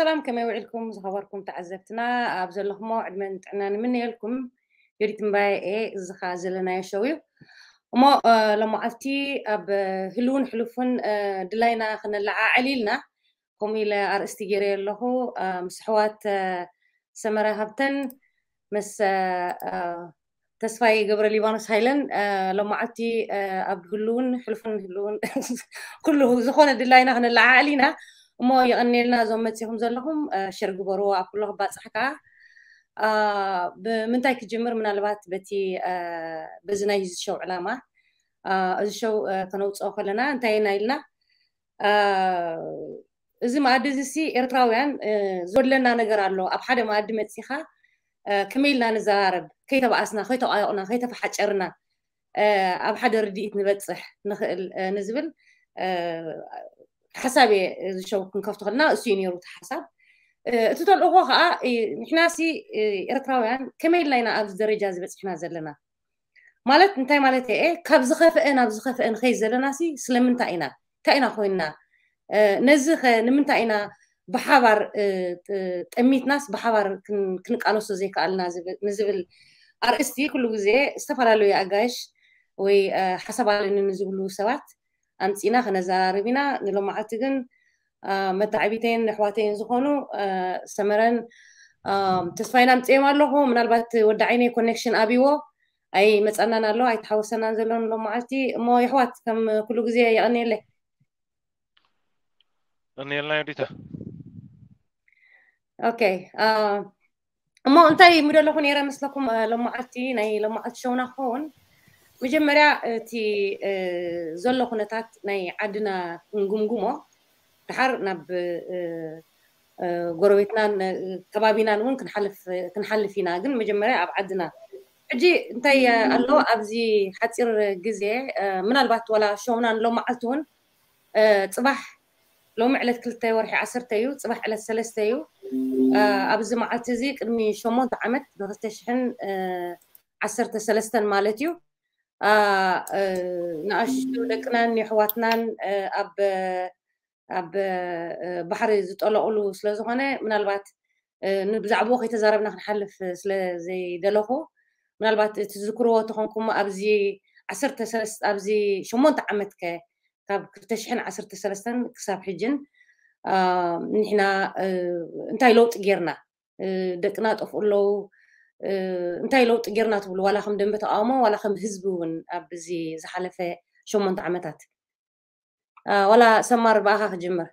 ሰላም፣ ከመይ ውዒልኩም ዝኸበርኩም ተዓዘብትና? ኣብ ዘለኹሞ ዕድመን ጥዕናን ንምነየልኩም። ዮዲት እምባየ እየ። እዚ ኸኣ ዘለናዮ ሸው እዩ። እሞ፣ እ፣ ሎማዓልቲ ኣብ ህልውን ሕሉፍን፣ እ፣ ድላይና ክነለዓዕል ኢልና፣ ከምኡ ኢለ ኣርእስቲ ገይረ ኣለኹ። እ፣ ምስ ኣሕዋት፣ እ፣ ሰመረ ሃብተን፣ ምስ፣ እ፣ እ፣ ተስፋይ ገብረ ሊባኖስ ሃይለን፣ እ፣ ሎማዓልቲ፣ እ፣ ኣብ ህልውን ሕሉፍን ህልውን ኩሉ ዝኾነ ድላይና ክነለዓዕል ኢና። እሞ የቐንየልና እዞም መጺኹም ዘለኹም፣ እ፣ ሸር ግበርዎ ኣብ ኩሉ ክባጽሕ ከኣ። እ፣ ብምንታይ ክጅምር? ምናልባት በቲ፣ እ፣ በዚ ናይ እዚ ሸው ዕላማ፣ እ፣ እዚ ሸው፣ እ፣ ከነውጽኦ ከለና እንታይ ኢና ኢልና? እ፣ እዚ መኣዲ እዚ ሲ ኤርትራውያን፣ እ፣ ዝጎድለና ነገር ኣሎ። ኣብ ሓደ መኣዲ መጺኻ፣ እ፣ ከመይ ኢልና ንዘራረብ፣ ከይተባኣስና፣ ከይተቋየቑና፣ ከይተፈሓጨርና፣ እ፣ ኣብ ሓደ ርድኢት ንበጽሕ ንኽእል፣ እ፣ ንዝብል፣ እ፣ ሓሳብ እየ እዚ ሸው ክንከፍቶ ከለና እሱ እዩ ነይሩ እቲ ሓሳብ። እ፣ እቲ ተልእኾ ከኣ፣ እ፣ ንሕና ሲ፣ እ፣ ኤርትራውያን ከመይ ኢልና ኢና ኣብዚ ደረጃ እዚ በጺሕና ዘለና? ማለት እንታይ ማለት እየ? ካብ ዝኸፍአ ናብ ዝኸፍአ ንኸይድ ዘለና ሲ ስለምንታይ ኢና? እንታይ ኢና ኮይንና? እ፣ ነዚ ኸ ንምንታይ ኢና ብሓባር፣ እ፣ ጥ-፣ ጠሚትናስ ብሓባር ክን-፣ ክንቃለሶ ዘይከኣልና ዝብል፣ ንዝብል ኣርእስቲ ኩሉ ግዜ ዝተፈላለዩ ኣጋይሽ ወይ፣ እ፣ ሓሳብ ኣለኒ ንዝብሉ ሰባት ኣምጺና ክነዘራርብ ኢና። ንሎማዓልቲ ግን፣ እ፣ መተዓቢተይን ኣሕዋተይን ዝኾኑ፣ እ፣ ሰመረን፣ እ፣ ተስፋይን ኣምጺኦም ኣለኹ። ምናልባት ወዲ ዓይነይ ኮኔክሽን ኣብይዎ ኣይመጸናን ኣሎ፣ ኣይተሓወሰናን ዘሎ ንሎማዓልቲ። እሞ የሕዋት ከም ኩሉ ግዜ የቐንየለይ። ቀንየልና ዮዲታ። ኦኬ፣ እ፣ እሞ እንታይ ምደለኹ ነይረ መስለኩም፣ እ፣ ሎማዓልቲ፣ ናይ ሎማዓልቲ ሸውና ክኸውን መጀመርያ እቲ፣ እ፣ ዘሎ ኩነታት ናይ ዓድና ክንግምግሞ፣ ድሓር ናብ፣ እ፣ እ፣ ጎረቤትናን፣ እ፣ ከባቢናን እውን ክንሓልፍ፣ ክንሓልፍ ኢና። ግን መጀመርያ ኣብ ዓድና ሕጂ እንታይ ኣሎ ኣብዚ ሓፂር ግዜ፣ እ፣ ምናልባት ዋላ ሸውና ንሎማዓልቲ እውን፣ እ፣ ጽባሕ ሎሚ ዕለት ክልተ ወርሒ ዓሰርተ እዩ፣ ጽባሕ ዕለት ሰለስተ እዩ። እ፣ ኣብዚ መዓልቲ እዚ ቅድሚ ሸሞንተ ዓመት ብክልተ ሽሕን፣ እ፣ ዓሰርተ ሰለስተን ማለት እዩ። እ፣ እ፣ ንኣሽቱ ደቅናን የሕዋትናን፣ እ፣ ኣብ፣ ኣብ፣ እ፣ ባሕሪ ዝጠለቑሉ ስለ ዝኾነ ምናልባት፣ እ፣ ን-፣ ብዛዕባኡ ከይተዛረብና ክንሓልፍ ስለ ዘይደለኹ ምናልባት ትዝክርዎ ተኾንኩም ኣብዚ ዓሰርተ ሰለስተ ኣብዚ ሸሞንተ ዓመት ከ ካብ ክልተ ሽሕን ዓሰርተ ሰለስተን ክሳብ ሕጅን፣ እ፣ ንሕና፣ እ፣ እንታይ ለውጢ ጌርና? እ፣ ደቅና ጠፍኡ ኣለዉ። እ፣ እንታይ ለውጢ ጌርና ትብሉ? ዋላ ከም ደንበ ተቃውሞ ዋላ ከም ህዝቢ እውን ኣብዚ ዝሓለፈ ሸሞንተ ዓመታት። እ፣ ዋላ ሰማር ብኣኻ ክጅምር።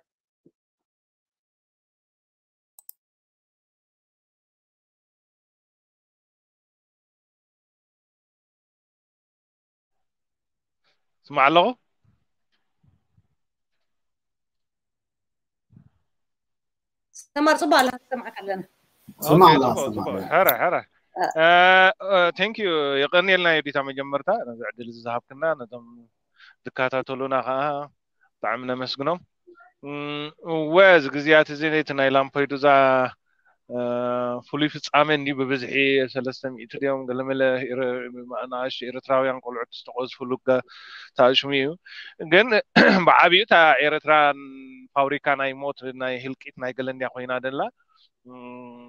ስማዕ ኣለኹ። ሰማር ጽቡቅ ኣለኻ፣ ንሰምዓካ ኣለና። ስማዕ ኦኬ፣ ኣለኻ፣ ጽቡቅ፣ ስማዕ ጽቡቅ። ኣለኻ። ሕረ፣ ሕረ። እ፣ እ፣ እ፣ ቴንክ ዩ። የቐንየልና ዮዲታ መጀመርታ ነዚ ዕድል እዚ ዝሃብክና፣ ነቶም ዝከታተሉና ከዓ ብጣዕሚ ነመስግኖም። እም፣ እወ፣ እዚ ግዜያት እዚ ነቲ ናይ ላምፔዱዛ፣ እ፣ ፍሉይ ፍጻሜ እንዲ ብብዝሒ ሰለስተ ሚእቲ ድዮም ገለመለ ኤረ-፣ ንኣሽቱ ኤርትራውያን ቆልዑት ዝተቐዝፍሉ ገ-፣ ታእሽሙ እዩ። ግን ብዓቢኡ እታ ኤርትራ ፋብሪካ ናይ ሞት፣ ናይ ህልቂት፣ ናይ ገለ እንድያ ኮይና ደላ። እም፣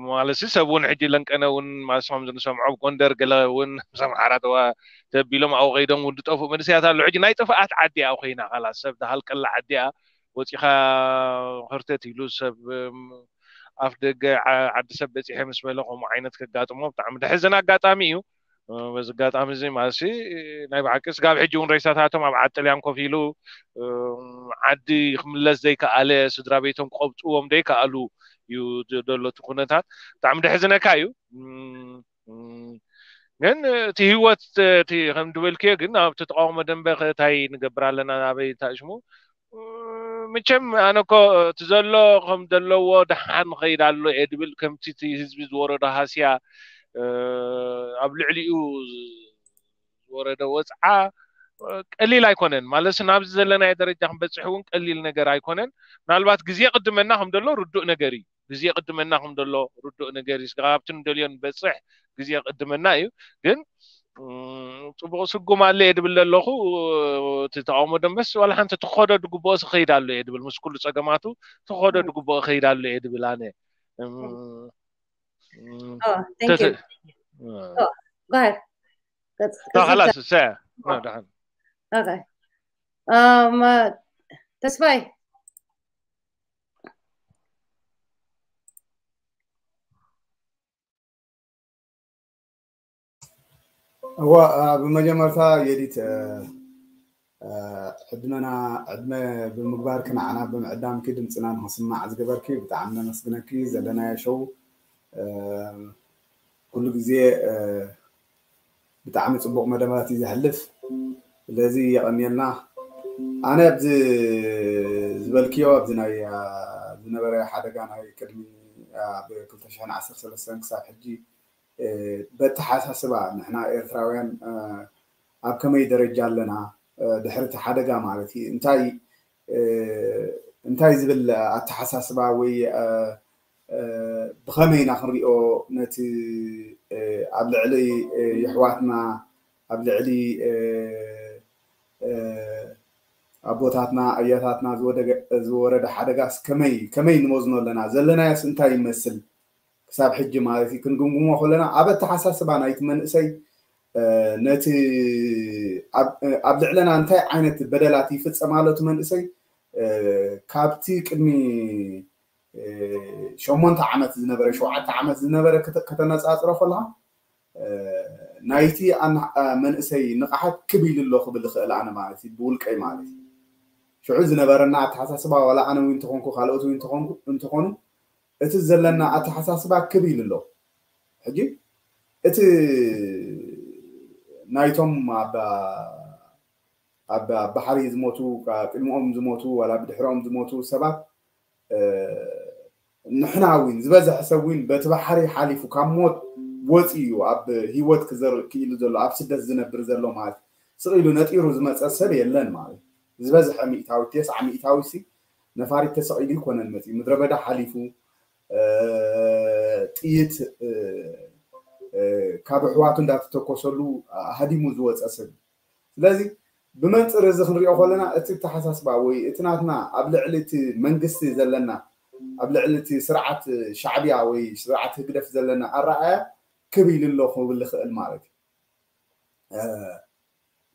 ማለትሲ ሰብ እውን ሕጂ ለንቀነ እውን ማለትሲ ከምዚ ንሰምዖ ኣብ ጎንደር ገለ እውን ምስ ኣምሓራ ተዋ-፣ ተቢሎም ኣብኡ ከይዶም እውን ዝጠፍኡ መንእሰያት ኣለዉ። ሕጂ ናይ ጥፍኣት ዓዲ እያ ኮይና፣ ካላስ ሰብ ዝሃልቀላ ዓዲ እያ። ወፂኻ ህርተት ኢሉ ሰብ፣ እም፣ ኣፍ ደገ ዓ-፣ ዓዲ ሰብ በፂሐ ምስ በለ ከምኡ ዓይነት ከጋጥሞ ብጣዕሚ ደሕዝን ኣጋጣሚ እዩ። እ፣ በዚ ኣጋጣሚ እዚ ማለትሲ ናይ ብሓቂ ስጋብ ሕጂ እውን ሬሳታቶም ኣብ ዓዲ ጥልያን ኮፍ ኢሉ፣ እ፣ ዓዲ ክምለስ ዘይከኣለ፣ ስድራ ቤቶም ክቐብፅዎም ዘይከኣሉ እዩ ዝ-፣ ዘሎ እቲ ኩነታት። ብጣዕሚ ደሕዝነካ እዩ። እም፣ እም፣ ግን እቲ ህይወት፣ እቲ ከም ዝበልክዮ ግን ኣብቲ ተቃውሞ ደንበ ከ እንታይ ንገብር ኣለና፣ ኣበይ ታሽሙ? እም፣ መቸም ኣነ እኮ እቲ ዘሎ ከም ዘለዎ ደሓን ኸይድ ኣሎ እየ ድብል፣ ከምቲ እቲ ህዝቢ ዝወረዶ ሃስያ፣ እ፣ ኣብ ልዕሊኡ ዝወረደ ወፅዓ፣ እ፣ ቀሊል ኣይኮነን። ማለት ናብዚ ዘለናዮ ደረጃ ክንበፅሕ እውን ቀሊል ነገር ኣይኮነን። ምናልባት ግዜ ቅድመና ከም ዘሎ ርዱእ ነገር እዩ። ግዜ ቅድመና ከም ዘሎ ርዱእ ነገር እዩ። ስጋብ ኣብቲ ንደልዮ ንበፅሕ ግዜ ቅድመና እዩ። ግን ጽቡቕ ስጉም ኣሎ እየ ድብል ዘለኹ። እቲ ተቃውሞ ደንበስ ዋላ ሓንቲ ትኸዶ ድግብኦ ክኸይድ ኣሎ እየ ድብል፣ ምስ ኩሉ ጸገማቱ ትኸዶ ድግብኦ ክኸይድ ኣሎ እየ ድብል ኣነ። Oh, thank you. Oh, go ahead. خلاص. Okay. Um, uh, ተስፋይ። እዋ፣ ብመጀመርታ የዲት ዕድመና ዕድመ ብምግባርኪ ንዓና ብምዕዳምኪ ድምፅና ንክስማዕ ዝገበርኪ ብጣዕሚ ነመስግነኪ። ዘለናዮ ሸው ኩሉ ግዜ ብጣዕሚ ፅቡቅ መደባት እዩ ዘሕልፍ። ስለዚ የቀንየልና። ኣነ ኣብዚ ዝበልክዮ ኣብዚ ናይ ዝነበረ ሓደጋ ናይ ቅድሚ ብ ክልተ ሽሕን ዓሰርተ ሰለስተን ክሳብ ሕጂ በተሓሳስባ ንሕና ኤርትራውያን ኣብ ከመይ ደረጃ ኣለና ድሕሪ እቲ ሓደጋ ማለት እዩ። እንታይ እንታይ ዝብል ኣተሓሳስባ ወይ ብኸመይ ኢና ክንሪኦ ነቲ ኣብ ልዕሊ የሕዋትና ኣብ ልዕሊ ኣቦታትና ኣያታትና ዝወረደ ሓደጋስ ከመይ ከመይ ንመዝኖ ኣለና? ዘለናዮስ እንታይ ይመስል? ክሳብ ሕጂ ማለት እዩ ክንግምግሞ ከለና ኣብ ኣተሓሳስባ ናይቲ መንእሰይ ነቲ ኣብ ልዕለና እንታይ ዓይነት በደላት ይፍጸም ኣሎ እቲ መንእሰይ ካብቲ ቅድሚ ሸሞንተ ዓመት ዝነበረ ሸውዓተ ዓመት ዝነበረ ከተነፃፅሮ ከለካ ናይቲ መንእሰይ ንቕሓት ክብ ኢሉ ኣሎ ክብል ይኽእል ኣነ ማለት እዩ ብውልቀይ ማለት እዩ። ሽዑ ዝነበረና ኣተሓሳስባ ዋላ ኣነ እውን እንተኾንኩ ካልኦት እውን እንተኾኑ እቲ ዘለና ኣተሓሳስባ ክብ ኢሉ ኣሎ። ሕጂ እቲ ናይቶም ኣብ ኣብ ባሕሪ ዝሞቱ ቅድሚኦም ዝሞቱ ዋላ ብድሕሮም ዝሞቱ ሰባት ንሕና እውን ዝበዝሐ ሰብ እውን በቲ ባሕሪ ሓሊፉ ካብ ሞት ወፂኡ እዩ ኣብ ሂወት ክዘርእ ክኢሉ ዘሎ ኣብ ስደት ዝነብር ዘሎ ማለት ስቕ ኢሉ ነጢሩ ዝመፀ ሰብ የለን ማለት ዝበዝሐ ሚእታዊ ተስዓ ሚእታዊ ሲ ነፋሪት ተሰቒሉ ይኮነን መፂኡ ምድረ በዳ ሓሊፉ ጥይት ካብ ኣሕዋቱ እንዳተተኮሰሉ ሃዲሙ ዝወፀ ሰብ ስለዚ ብመንፅር እዚ ክንሪኦ ከለና እቲ ተሓሳስባ ወይ እቲ ናትና ኣብ ልዕሊ እቲ መንግስቲ ዘለና ኣብ ልዕሊ እቲ ስርዓት ሻዕብያ ወይ ስርዓት ህግደፍ ዘለና ኣረኣያ ክብ ኢሉ ኣሎ ክብል ይኽእል ማለት እዩ።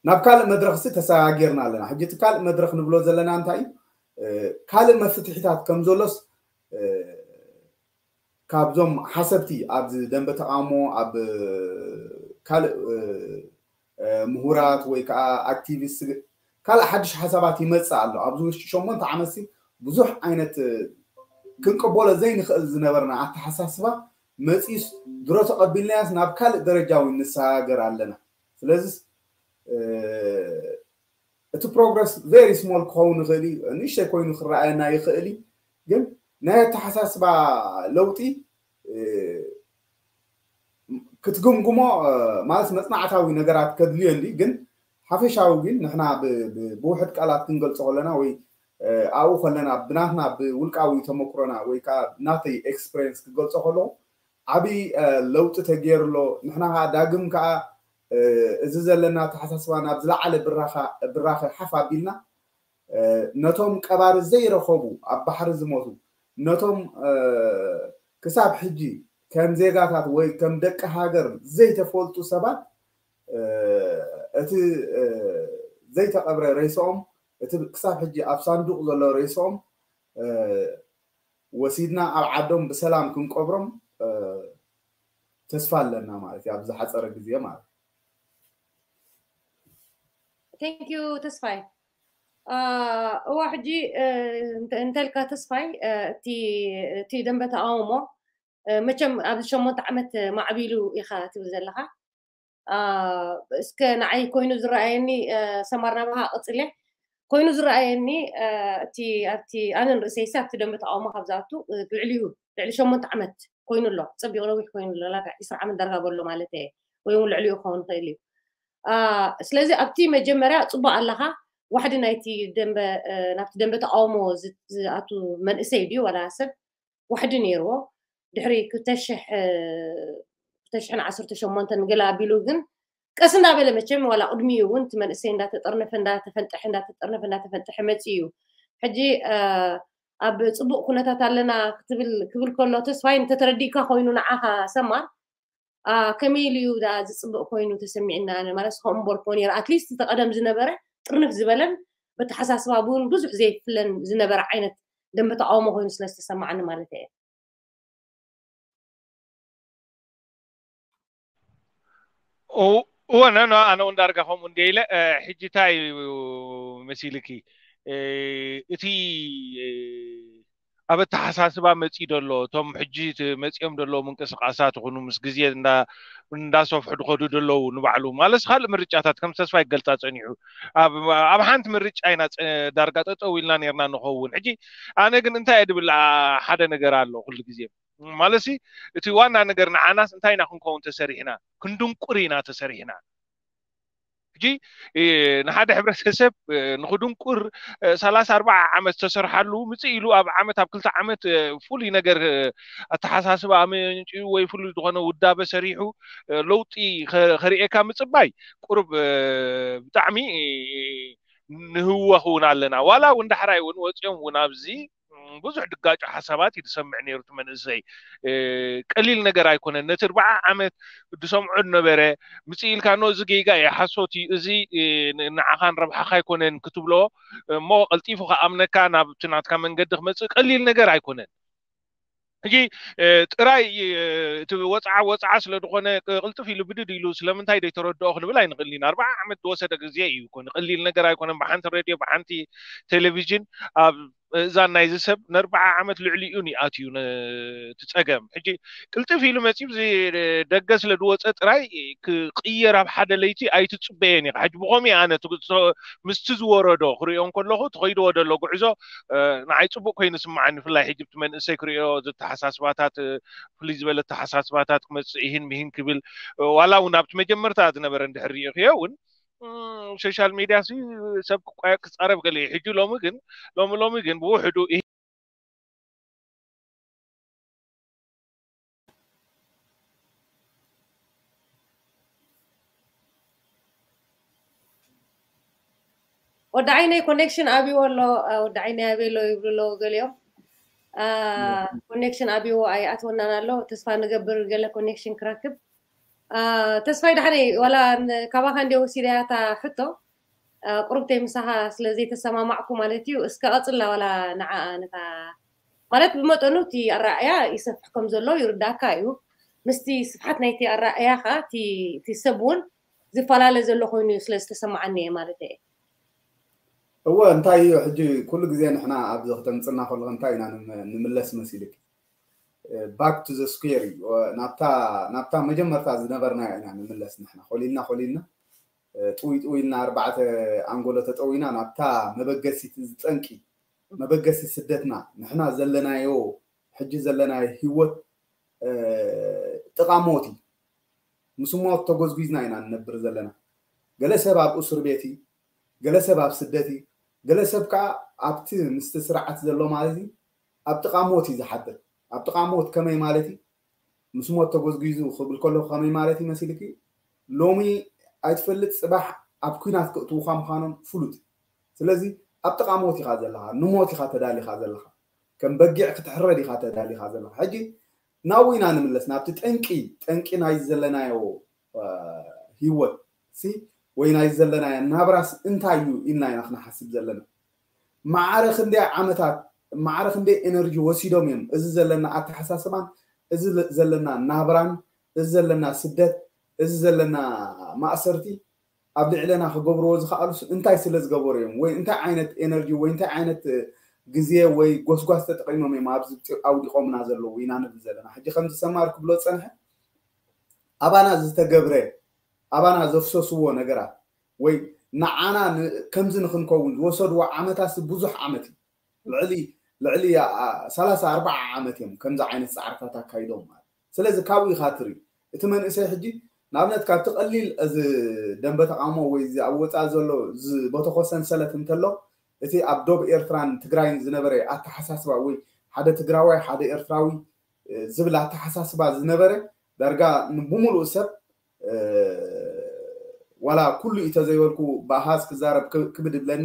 ናብ ካልእ መድረኽ ሲ ተሰጋጊርና ኣለና። ሕጂ እቲ ካልእ መድረኽ ንብሎ ዘለና እንታይ እዩ? ካልእ መፍትሒታት ከም ዘሎስ ካብዞም ሓሰብቲ ኣብዚ ደንበ ተቃውሞ ኣብ ካልእ ምሁራት ወይ ከዓ ኣክቲቪስት ካልእ ሓድሽ ሓሳባት ይመፅእ ኣሎ። ኣብዚ ውሽጢ ሸሞንተ ዓመት ሲ ብዙሕ ዓይነት ክንቅበሎ ዘይንኽእል ዝነበርና ኣተሓሳስባ መፂስ ድሮ ተቐቢልናያስ ናብ ካልእ ደረጃ እውን ንሰጋገር ኣለና። ስለዚ እቲ ፕሮግረስ ቨሪ ስሞል ክኸውን ይኽእል እዩ፣ ንእሽተይ ኮይኑ ክረኣየና ይኽእል እዩ። ግን ናይ ኣተሓሳስባ ለውጢ ክትግምግሞ ማለት መፅናዕታዊ ነገራት ከድልዮ እንዲ ግን ሓፈሻዊ ግን ንሕና ብውሕድ ቃላት ክንገልፆ ከለና ወይ ኣብኡ ከለና ብናትና ብውልቃዊ ተመክሮና ወይ ከዓ ናተይ ኤክስፐሪንስ ክገልፆ ከለኹ ዓብዪ ለውጢ ተገይሩ ኣሎ። ንሕና ከዓ ዳግም ከዓ እዚ ዘለና ኣተሓሳስባ ናብ ዝለዓለ ብራኸ ሓፍ ኣቢልና ነቶም ቀባሪ ዘይረኸቡ ኣብ ባሕሪ ዝሞቱ ነቶም ክሳብ ሕጂ ከም ዜጋታት ወይ ከም ደቂ ሃገር ዘይተፈልጡ ሰባት እቲ ዘይተቐብረ ሬስኦም እቲ ክሳብ ሕጂ ኣብ ሳንዱቕ ዘሎ ሬስኦም ወሲድና ኣብ ዓዶም ብሰላም ክንቀብሮም ተስፋ ኣለና ማለት እዩ ኣብ ዝሓፀረ ግዜ ማለት እዩ። Thank you ተስፋይ። እዋ ሕጂ እንተልካ ተስፋይ እቲ ደንበ ተቃውሞ መቸም ኣብዚ ሸሞንተ ዓመት ማዕቢሉ ኢኻ ትብል ዘለኻ እስከ ንዓይ ኮይኑ ዝረኣየኒ ሰማር ናባኻ ቅፅለ ኮይኑ ዝረኣየኒ እቲ ኣብቲ ኣነን ርእሰይሲ ኣብቲ ደንበ ተቃውሞ ካብ ዝኣቱ ልዕሊኡ ልዕሊ ሸሞንተ ዓመት ኮይኑ ኣሎ ፀቢቑ ነዊሕ ኮይኑ ኣሎ ላካ ዒስራ ዓመት ዳርጋ በሎ ማለት እየ ወይ እውን ልዕሊኡ ክኸውን ይኽእል እዩ ስለዚ ኣብቲ መጀመርያ ፅቡቅ ኣለኻ ዋሕዲ ናይቲ ደንበ ናብቲ ደንበ ተቃውሞ ዝኣቱ መንእሰይ ድዩ ዋላ ሰብ ዋሕዲ ነይርዎ ድሕሪ ክልተ ሽሕን ዓሰርተ ሸሞንተን ገለ ኣቢሉ ግን ቀስ እንዳበለ መቸም ዋላ ቅድሚኡ እውን እቲ መንእሰይ እንዳተጠርነፈ እንዳተፈንጠሐ እንዳተጠርነፈ እንዳተፈንጠሐ መፂ እዩ። ሕጂ ኣብ ፅቡቅ ኩነታት ኣለና ክትብል ክብል ከሎ ተስፋይ እንተተረዲእካ ኮይኑ ንዓኻ ሰማር ከመይ ኢሉ እዩ ዝፅብቅ ኮይኑ ተሰሚዕና ማለት ከምኡ በልኮ ነይሩ ኣትሊስት እቲ ቀደም ዝነበረ ጥርንፍ ዝበለን በተሓሳስባ ብውን ብዙሕ ዘይፍለን ዝነበረ ዓይነት ደንበ ተቃውሞ ኮይኑ ስለ ዝተሰማዓኒ ማለት እየ። እወ ነኖ ኣነ እውን ዳርጋ ከምኡ እንደ ኢለ ሕጂ እንታይ እዩ መሲልኪ እቲ ኣብ ኣተሓሳስባ መፂ ደሎ እቶም ሕጂ መፂኦም ደለዉ ምንቅስቃሳት ይኹኑ ምስ ግዜ እንዳሰፍሑ ድኸዱ ደለዉ ንባዕሉ ማለት ካልእ ምርጫታት ከም ተስፋ ይገልፃ ፀኒሑ ኣብ ሓንቲ ምርጫ ኢና ዳርጋ ጠጠው ኢልና ነርና ንኸውን ሕጂ ኣነ ግን እንታይ እየ ድብል ሓደ ነገር ኣሎ ኩሉ ግዜ ማለት እቲ ዋና ነገር ንዓናስ እንታይ ኢና ክንከውን ተሰሪሕና ክንድንቁር ኢና ተሰሪሕና ሕጂ ንሓደ ሕብረተሰብ ንክድንቁር ሰላሳ ኣርባዓ ዓመት ዝተሰርሓሉ ምፅእ ኢሉ ኣብ ዓመት ኣብ ክልተ ዓመት ፍሉይ ነገር ኣተሓሳስባ ኣመንጭኡ ወይ ፍሉይ ዝኾነ ውዳበ ሰሪሑ ለውጢ ከርእየካ ምፅባይ ቁሩብ ብጣዕሚ ንህወኽ እውን ኣለና ዋላ እውን ዳሕራይ እውን ወፂኦም እውን ኣብዚ ብዙሕ ድጋጮ ሓሳባት እዩ ዝሰምዕ ነይሩ እቲ መንእሰይ ቀሊል ነገር ኣይኮነን ነቲ ኣርባዓ ዓመት ዝሰምዖ ዝነበረ ምፅእ ኢልካ ኖ እዚ ጌጋ እዩ ሓሶት እዩ እዚ ንዓኻን ረብሓኻ ኣይኮነን ክትብሎ እሞ ቀልጢፉ ከኣምነካ ናብቲ ናትካ መንገዲ ክመፅእ ቀሊል ነገር ኣይኮነን ሕጂ ጥራይ እቲ ወፅዓ ወፅዓ ስለ ዝኾነ ቅልጥፍ ኢሉ ብድድ ኢሉ ስለምንታይ ዘይተረድኦ ክንብል ኣይንኽእል ኢና ኣርባዓ ዓመት ዝወሰደ ግዜ እዩ ኮነ ቀሊል ነገር ኣይኮነን ብሓንቲ ሬድዮ ብሓንቲ ቴሌቪዥን ኣብ እዛን ናይዚ ሰብ ንኣርባዓ ዓመት ልዕሊኡ ይኣትዩ እቲ ፀገም ሕጂ ቅልጥፍ ኢሉ መፂኡ ደገ ስለ ዝወፀ ጥራይ ክቅየር ኣብ ሓደ ለይቲ ኣይትፅበየን ኢኻ ሕጂ ብኸምኡ ኣነ ምስቲ ዝወረዶ ክሪኦ እንከለኹ ተኸይድዎ ደሎ ጉዕዞ ንዓይ ፅቡቅ ኮይኑ ስምዓኒ ብፍላይ ሕጂ ብቲ መንእሰይ ክሪኦ ዝተሓሳስባታት ፍልይ ዝበለ ተሓሳስባታት ክመፅእ ይህን ምሂን ክብል ዋላ እውን ኣብቲ መጀመርታ ዝነበረ እንድሕር ሪኢኽዮ እውን ሶሻል ሚድያ ሲ ሰብ ክቋየቅ ክፃረብ ገለ እዩ ሕጂ ሎሚ ግን ሎሚ ሎሚ ግን ብውሕዱ ወዲ ዓይነይ ኮኔክሽን ኣብይዎ ኣሎ ወዲ ዓይነይ ኣበይ ኣሎ ይብሉ ኣለዎ ገሊኦም ኮኔክሽን ኣብይዎ ኣይኣትወናን ኣሎ ተስፋ ንገብር ገለ ኮኔክሽን ክረክብ ተስፋይ ዳሕነይ ዋላ ካባኻ እንደ ወሲዳያ እታ ሕቶ ቁርብተይ ምሳኻ ስለ ዘይተሰማማዕኩ ማለት እዩ እስከ ቀፅላ ዋላ ንዓ ነታ ማለት ብመጠኑ እቲ ኣረኣእያ ይሰፍሕ ከም ዘሎ ይርዳእካ እዩ ምስቲ ስፍሓት ናይቲ ኣረኣእያኻ እቲ ሰብ እውን ዝፈላለ ዘሎ ኮይኑ እዩ ስለ ዝተሰማዓኒ እየ ማለት እየ እወ እንታይ እዩ ሕጂ ኩሉ ግዜ ንሕና ኣብዚ ክተምፅና ከለኹ እንታይ ኢና ንምለስ መሲልክ back to the square እዩ ናብታ ናብታ መጀመርታ ዝነበርና ኢና ንምለስ ንሕና ኮሊልና ኮሊልና ጥውይ ጥውይ ኢልና ኣርባዕተ ኣንጎሎ ተጠዊና ናብታ መበገሲት ዝጠንቂ መበገሲ ስደትና ንሕና ዘለናዮ ሕጂ ዘለናዮ ህይወት ጥቓ ሞት እዩ ምስ ሞት ተጎዝጉዝና ኢና ንነብር ዘለና ገለ ሰብ ኣብ እስር ቤት እዩ ገለ ሰብ ኣብ ስደት እዩ ገለ ሰብ ከዓ ኣብቲ ምስቲ ስርዓት ዘሎ ማለት እዩ ኣብ ጥቓ ሞት እዩ ዝሓድር ኣብ ጥቓ ሞት ከመይ ማለት እዩ ምስ ሞት ተጎዝጒዙ ክብል ከለኹ ከመይ ማለት እዩ መሲልኪ ሎሚ ኣይትፈልጥ ፅባሕ ኣብ ኩናት ክእትውኻ ምዃኖም ፍሉጥ ስለዚ ኣብ ጥቓ ሞት ኢኻ ዘለኻ ንሞት ኢኻ ተዳሊኻ ዘለኻ ከም በጊዕ ክትሕረድ ኢኻ ተዳሊኻ ዘለኻ ሕጂ ናብኡ ኢና ንምለስ ናብቲ ጠንቂ ጠንቂ ናይ ዘለናዮ ህይወት ሲ ወይ ናይ ዘለናዮ ናብራስ እንታይ እዩ ኢልና ኢና ክንሓስብ ዘለና ማዕረ ክንደይ ዓመታት ማዕረ ክንደይ ኤነርጂ ወሲዶም እዮም እዚ ዘለና ኣተሓሳስባን እዚ ዘለና ናብራን እዚ ዘለና ስደት እዚ ዘለና ማእሰርቲ ኣብ ልዕለና ክገብርዎ ዝኽኣሉስ እንታይ ስለ ዝገበሩ እዮም ወይ እንታይ ዓይነት ኤነርጂ ወይ እንታይ ዓይነት ግዜ ወይ ጎስጓስ ተጠቂሞም እዮም ኣብዚ ኣውዲቖምና ዘለዉ ኢና ንብል ዘለና ሕጂ ከምዚ ሰማር ክብሎ ዝፀንሐ ኣባና ዝተገብረ ኣባና ዘፍሰስዎ ነገራት ወይ ንዓና ከምዚ ንክንከውን ዝወሰድዎ ዓመታት ብዙሕ ዓመት እዩ ልዕሊ ልዕሊ ሰላሳ ኣርባዓ ዓመት እዮም ከምዚ ዓይነት ፃዕርታት ኣካይዶም ማለት ስለዚ ካብኡ ኢካ ትርኢ እቲ መንእሰይ ሕጂ ንኣብነት ካብቲ ቀሊል እዚ ደንበ ተቃውሞ ወይ እዚ ኣብ ወፃኢ ዘሎ ዝበተኮ ሰንሰለት እንተሎ እቲ ኣብ ዶብ ኤርትራን ትግራይን ዝነበረ ኣተሓሳስባ ወይ ሓደ ትግራዋይ ሓደ ኤርትራዊ ዝብል ኣተሓሳስባ ዝነበረ ዳርጋ ብሙሉእ ሰብ ዋላ ኩሉ እዩ ተዘይበልኩ ብኣሃዝ ክዛረብ ክብድ ይብለኒ።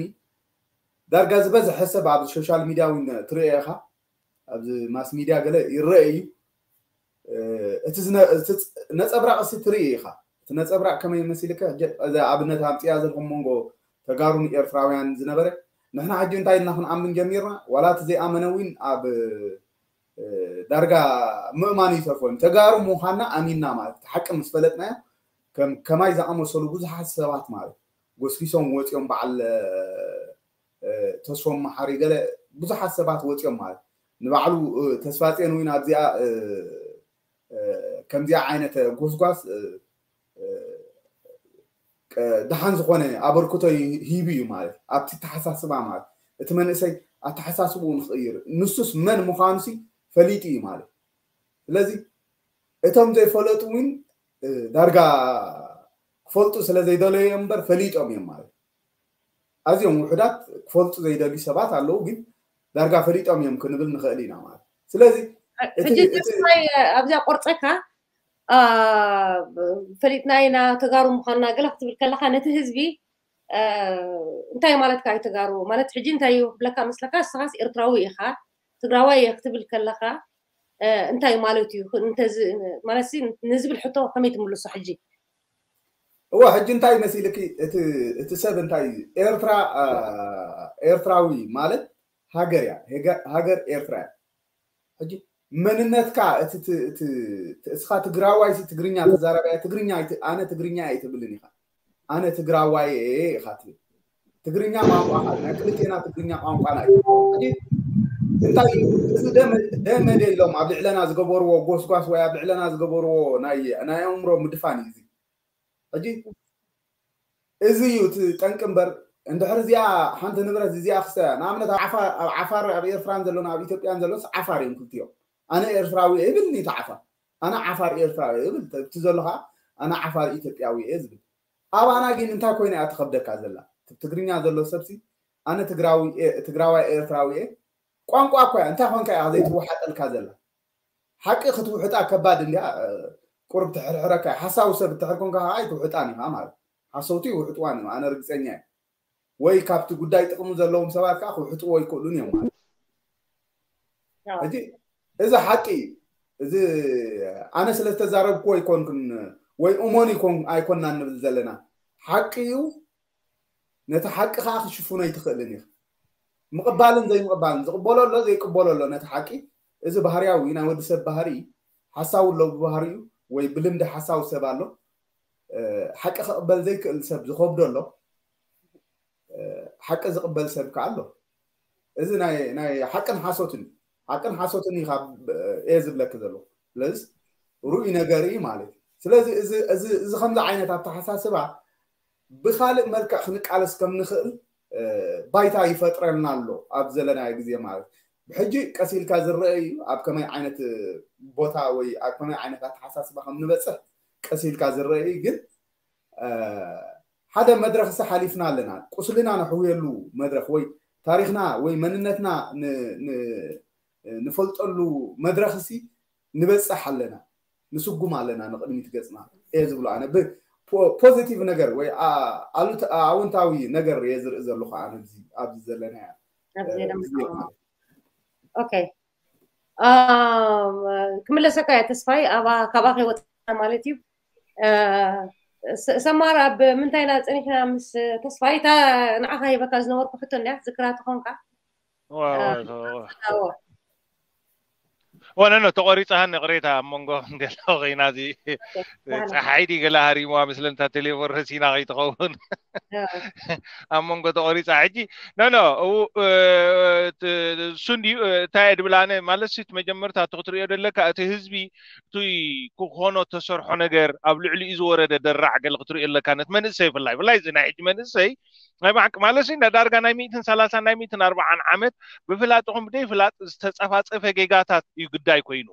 ዳርጋ ዝበዝሐ ሰብ ኣብ ሶሻል ሚድያ እውን ትርእዮ ኢኻ፣ ኣብዚ ማስ ሚድያ ገለ ይረአ እዩ። እቲ ነፀብራቕ ሲ ትርኢ ኢኻ። እቲ ነፀብራቕ ከመይ መሲልከ? እዚ ኣብነት ኣምፅያ ዘለኹም መንጎ ተጋሩን ኤርትራውያን ዝነበረ፣ ንሕና ሕጂ እንታይ ኢልና ክንኣምን ጀሚርና? ዋላ እቲ ዘይኣመነ እውን ኣብ ዳርጋ ምእማን ይተርፎ። ተጋሩ ምዃንና ኣሚንና ማለት እቲ ሓቂ ምስ ፈለጥናዮ፣ ከማይ ዝኣመሰሉ ብዙሓት ሰባት ማለት ጎስጊሶም ወፂኦም፣ በዓል ተስፎም መሓሪ ገለ ብዙሓት ሰባት ወፂኦም ማለት ንባዕሉ ተስፋፅዮን እውን ኣብዚኣ ከምዚኣ ዓይነት ጎስጓስ ደሓን ዝኾነ ኣበርክቶ ሂቡ እዩ ማለት ኣብቲ ተሓሳስባ ማለት እቲ መንእሰይ ኣተሓሳስብኡ ንክቕይር ንሱስ መን ምዃኑሲ ፈሊጡ እዩ ማለት። ስለዚ እቶም ዘይፈለጡ እውን ዳርጋ ክፈልጡ ስለ ዘይደለዩ እዮም እምበር ፈሊጦም እዮም ማለት። ኣዝዮም ውሑዳት ክፈልጡ ዘይደልዩ ሰባት ኣለዉ፣ ግን ዳርጋ ፈሊጦም እዮም ክንብል ንኽእል ኢና ማለት። ስለዚ ሕጂ ተስፋይ ኣብዚኣ ቆርፀካ ፈሊጥና ኢና ተጋሩ ምዃንና ገለ ክትብል ከለካ ነቲ ህዝቢ እንታይ ማለትካ እዩ ተጋሩ ማለት? ሕጂ እንታይ እዩ ክብለካ መስለካ? እስኻስ ኤርትራዊ ኢኻ፣ ትግራዋይ እየ ክትብል ከለካ እንታይ ማለት እዩ? ማለት ንዝብል ሕቶ ከመይ ትምልሶ ሕጂ? እወ ሕጂ እንታይ መሲልኪ እቲ ሰብ እንታይ እዩ? ኤርትራ ኤርትራዊ ማለት ሃገር እያ፣ ሃገር ኤርትራ እያ። ሕጂ መንነትካ እቲ እስኻ ትግራዋይ ሲ ትግርኛ ተዛረባያ ትግርኛ ኣነ ትግርኛ ኣይትብልን ኢኻ። ኣነ ትግራዋይ እየ ኢኻ ትብል። ትግርኛ ቋንቋኻ ናይ ክልቴና ትግርኛ ቋንቋና እዩ። ሕጂ እንታይ እዩ እዚ ደመ ደሎም ኣብ ልዕለና ዝገበርዎ ጎስጓስ ወይ ኣብ ልዕለና ዝገበርዎ ናይ ናይ ኣእምሮ ምድፋን እዩ እዚ። ሕጂ እዚ እዩ እቲ ጠንቂ እምበር እንድሕር እዚኣ ሓንቲ ንብረት እዚኣ ክስተ ንኣብነት ኣብ ዓፋር ኣብ ኤርትራን ዘሎን ኣብ ኢትዮጵያን ዘሎስ ዓፋር እዮም ክልቲኦም። ኣነ ኤርትራዊ እየ ይብል እቲ ዓፋር፣ ኣነ ዓፋር ኤርትራዊ እየ ይብል እቲ ዘሎ ከዓ ኣነ ዓፋር ኢትዮጵያዊ እየ ዝብል። ኣባና ግን እንታይ ኮይና እያ ትኸብደካ ዘላ? ትግርኛ ዘሎ ሰብሲ ኣነ ትግራዋይ ኤርትራዊ እየ ቋንቋ እኮ እያ እንታይ ኮንካ እያ ዘይትወሓጠልካ ዘላ? ሓቂ ክትውሕጣ ከባድ እንዲያ ቁርብ ትሕርሕረካ ሓሳዊ ሰብ ትሕር ኮንካ ከዓ ኣይትውሕጣን ኢኻ ማለት ሓሰውቲ ይውሕጥዋን እዮም ኣነ ርግፀኛ እየ። ወይ ካብቲ ጉዳይ ጥቕሚ ዘለዎም ሰባት ከዓ ክውሕጥዎ ይክእሉን እዮም ማለት ሕጂ እዚ ሓቂ እዩ። እዚ ኣነ ስለ ዝተዛረብኩዎ ኣይኮንኩን ወይ እሞን ኣይኮንና ንብል ዘለና ሓቂ እዩ። ነቲ ሓቂ ከዓ ክሽፍኖ ኣይትኽእልን ኢኻ። ምቕባልን ዘይምቕባልን ዝቕበሎ ኣሎ ዘይቅበሎ ኣሎ ነቲ ሓቂ። እዚ ባህርያዊ ናይ ወዲ ሰብ ባህሪ ሓሳዊ ኣሎ ብባህሪኡ ወይ ብልምዲ ሓሳዊ ሰብ ኣሎ። ሓቂ ክቕበል ዘይክእል ሰብ ዝኸብዶ ኣሎ። ሓቂ ዝቕበል ሰብ ከዓ ኣሎ። እዚ ናይ ሓቅን ሓሶትን ሓቅን ሓሶትን ኢኻ እየ ዝብለክ ዘሎ። ስለዚ ርኡይ ነገር እዩ ማለት እዩ። ስለዚ እዚ ከምዚ ዓይነት ኣተሓሳስባ ብካልእ መልክዕ ክንቃለስ ከም ንኽእል ባይታ ይፈጥረልና ኣሎ ኣብ ዘለናዮ ግዜ ማለት ብሕጂ ቀስ ኢልካ ዝረአ እዩ ኣብ ከመይ ዓይነት ቦታ ወይ ኣብ ከመይ ዓይነት ኣተሓሳስባ ከም ንበፅሕ ቀስ ኢልካ ዝረአ እዩ ግን ሓደ መድረኽ ሲ ሓሊፍና ኣለና ቁስልና ነሕውየሉ መድረኽ ወይ ታሪኽና ወይ መንነትና ንፈልጠሉ መድረኽ ሲ ንበፅሕ ኣለና ንስጉም ኣለና ንቕድሚት ገፅና እየ ዝብሎ ኣነ ፖዚቲቭ ነገር ወይ ኣውንታዊ ነገር እየ ዝርኢ ዘለኹ ኣነ ኣብዚ ዘለናያ ክምለሰካ እያ ተስፋይ ካባኸ ወፅና ማለት እዩ ሰማር ኣብ ምንታይ ኢና ፀኒሕና ምስ ተስፋይ እታ ንዓኻ ሂበካ ዝነበርኩ ሕቶ እንድያ ዝክራ ትኾንካ ወነኖ ተቆሪፃ ሃኒ ቅሬታ ኣብ መንጎ ገለ ኮይና እዚ ፀሓይ ዲ ገለ ሃሪምዋ ምስለንታ ቴሌፎን ረሲና ከይትኸውን ኣብ መንጎ ተቆሪፃ ሕጂ ኖኖ እሱ እንድዩ እንታይ እየ ድብል ኣነ ማለት እቲ መጀመርታ እቲ ክትሪኦ ደለካ እቲ ህዝቢ እቲ ክኾኖ ተሰርሖ ነገር ኣብ ልዕሊኡ ዝወረደ ደራዕ ገለ ክትሪኦ ኣለካ ነት መንእሰይ ብላይ ብላይ እዚ ናይ ሕጂ መንእሰይ ናይ ብሓቂ ማለት ሲ ዳርጋ ናይ ሚእትን ሰላሳን ናይ ሚእትን ኣርባዓን ዓመት ብፍላጥኹም ብደይ ፍላጥ ዝተፀፋፀፈ ጌጋታት እዩ ግዳይ ኮይኑ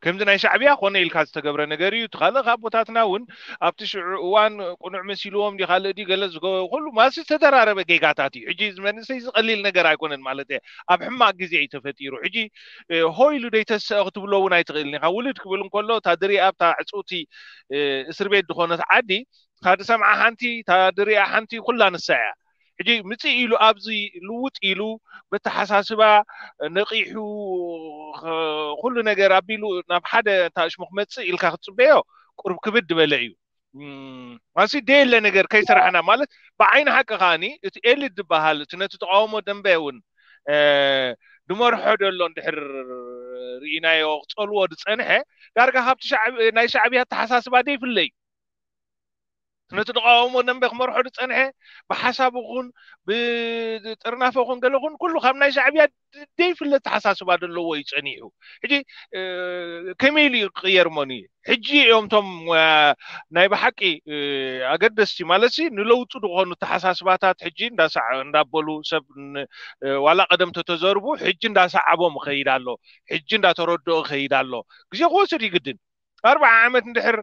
ከምዚ ናይ ሻዕብያ ኮነ ኢልካ ዝተገብረ ነገር እዩ። እቲ ካልእ ካብ ቦታትና እውን ኣብቲ ሽዑ እዋን ቅኑዕ መሲልዎም ዲ ካልእ ዲ ገለ ዝገ- ኩሉ ማለት ዝተደራረበ ጌጋታት እዩ። ሕጂ እዚ መንእሰይ እዚ ቀሊል ነገር ኣይኮነን ማለት እየ። ኣብ ሕማቅ ግዜ እዩ ተፈጢሩ። ሕጂ ሆ ኢሉ ደይተሰአ ክትብሎ እውን ኣይትኽእልን ኢኻ። ውልድ ክብል እንከሎ እታ ድሪኣ ኣብታ ዕፅውቲ እስር ቤት ዝኾነት ዓዲ እታ ድሰምዓ ሓንቲ እታ ድሪኣ ሓንቲ ኩላ ንሳ እያ። ሕጂ ምፅእ ኢሉ ኣብዚ ልውጥ ኢሉ በተሓሳስባ ነቂሑ ኩሉ ነገር ኣቢሉ ናብ ሓደ ታሽሙ ክመፅእ ኢልካ ክትፅበዮ ቁርብ ክብድ ዝበለ እዩ። ማሲ ደየለ ነገር ከይሰራሕና ማለት ብዓይኒ ሓቂ ከዓኒ እቲ ኤሊት ዝበሃል እቲ ነቲ ተቃውሞ ደንበ እውን ድመርሖ ደሎ እንድሕር ርኢናዮ ክፀልዎ ዝፀንሐ ዳርጋ ካብቲ ናይ ሻዕብያ ኣተሓሳስባ ደይፍለ እዩ። ነቲ ተቃውሞ ደንበ ክመርሖ ዝፀንሐ ብሓሳብ ኹን ብጥርናፈ ኹን ገለ ኹን ኩሉ ካብ ናይ ሻዕብያ ደይፍለ ተሓሳስባ ዘለዎ እዩ ፀኒሑ። ሕጂ ከመይ ኢሉ እዩ ክቅየር መኑ እዩ? ሕጂ እዮም ቶም ናይ ብሓቂ ኣገደስቲ ማለት ሲ ንለውጡ ዝኾኑ ተሓሳስባታት ሕጂ እንዳበሉ ሰብ ዋላ ቀደም ተተዘርቡ ሕጂ እንዳሰዓቦም ይኸይድ ኣሎ። ሕጂ እንዳተረድኦ ይኸይድ ኣሎ። ግዜ ክወስድ ይግድን። ኣርባዓ ዓመት እንድሕር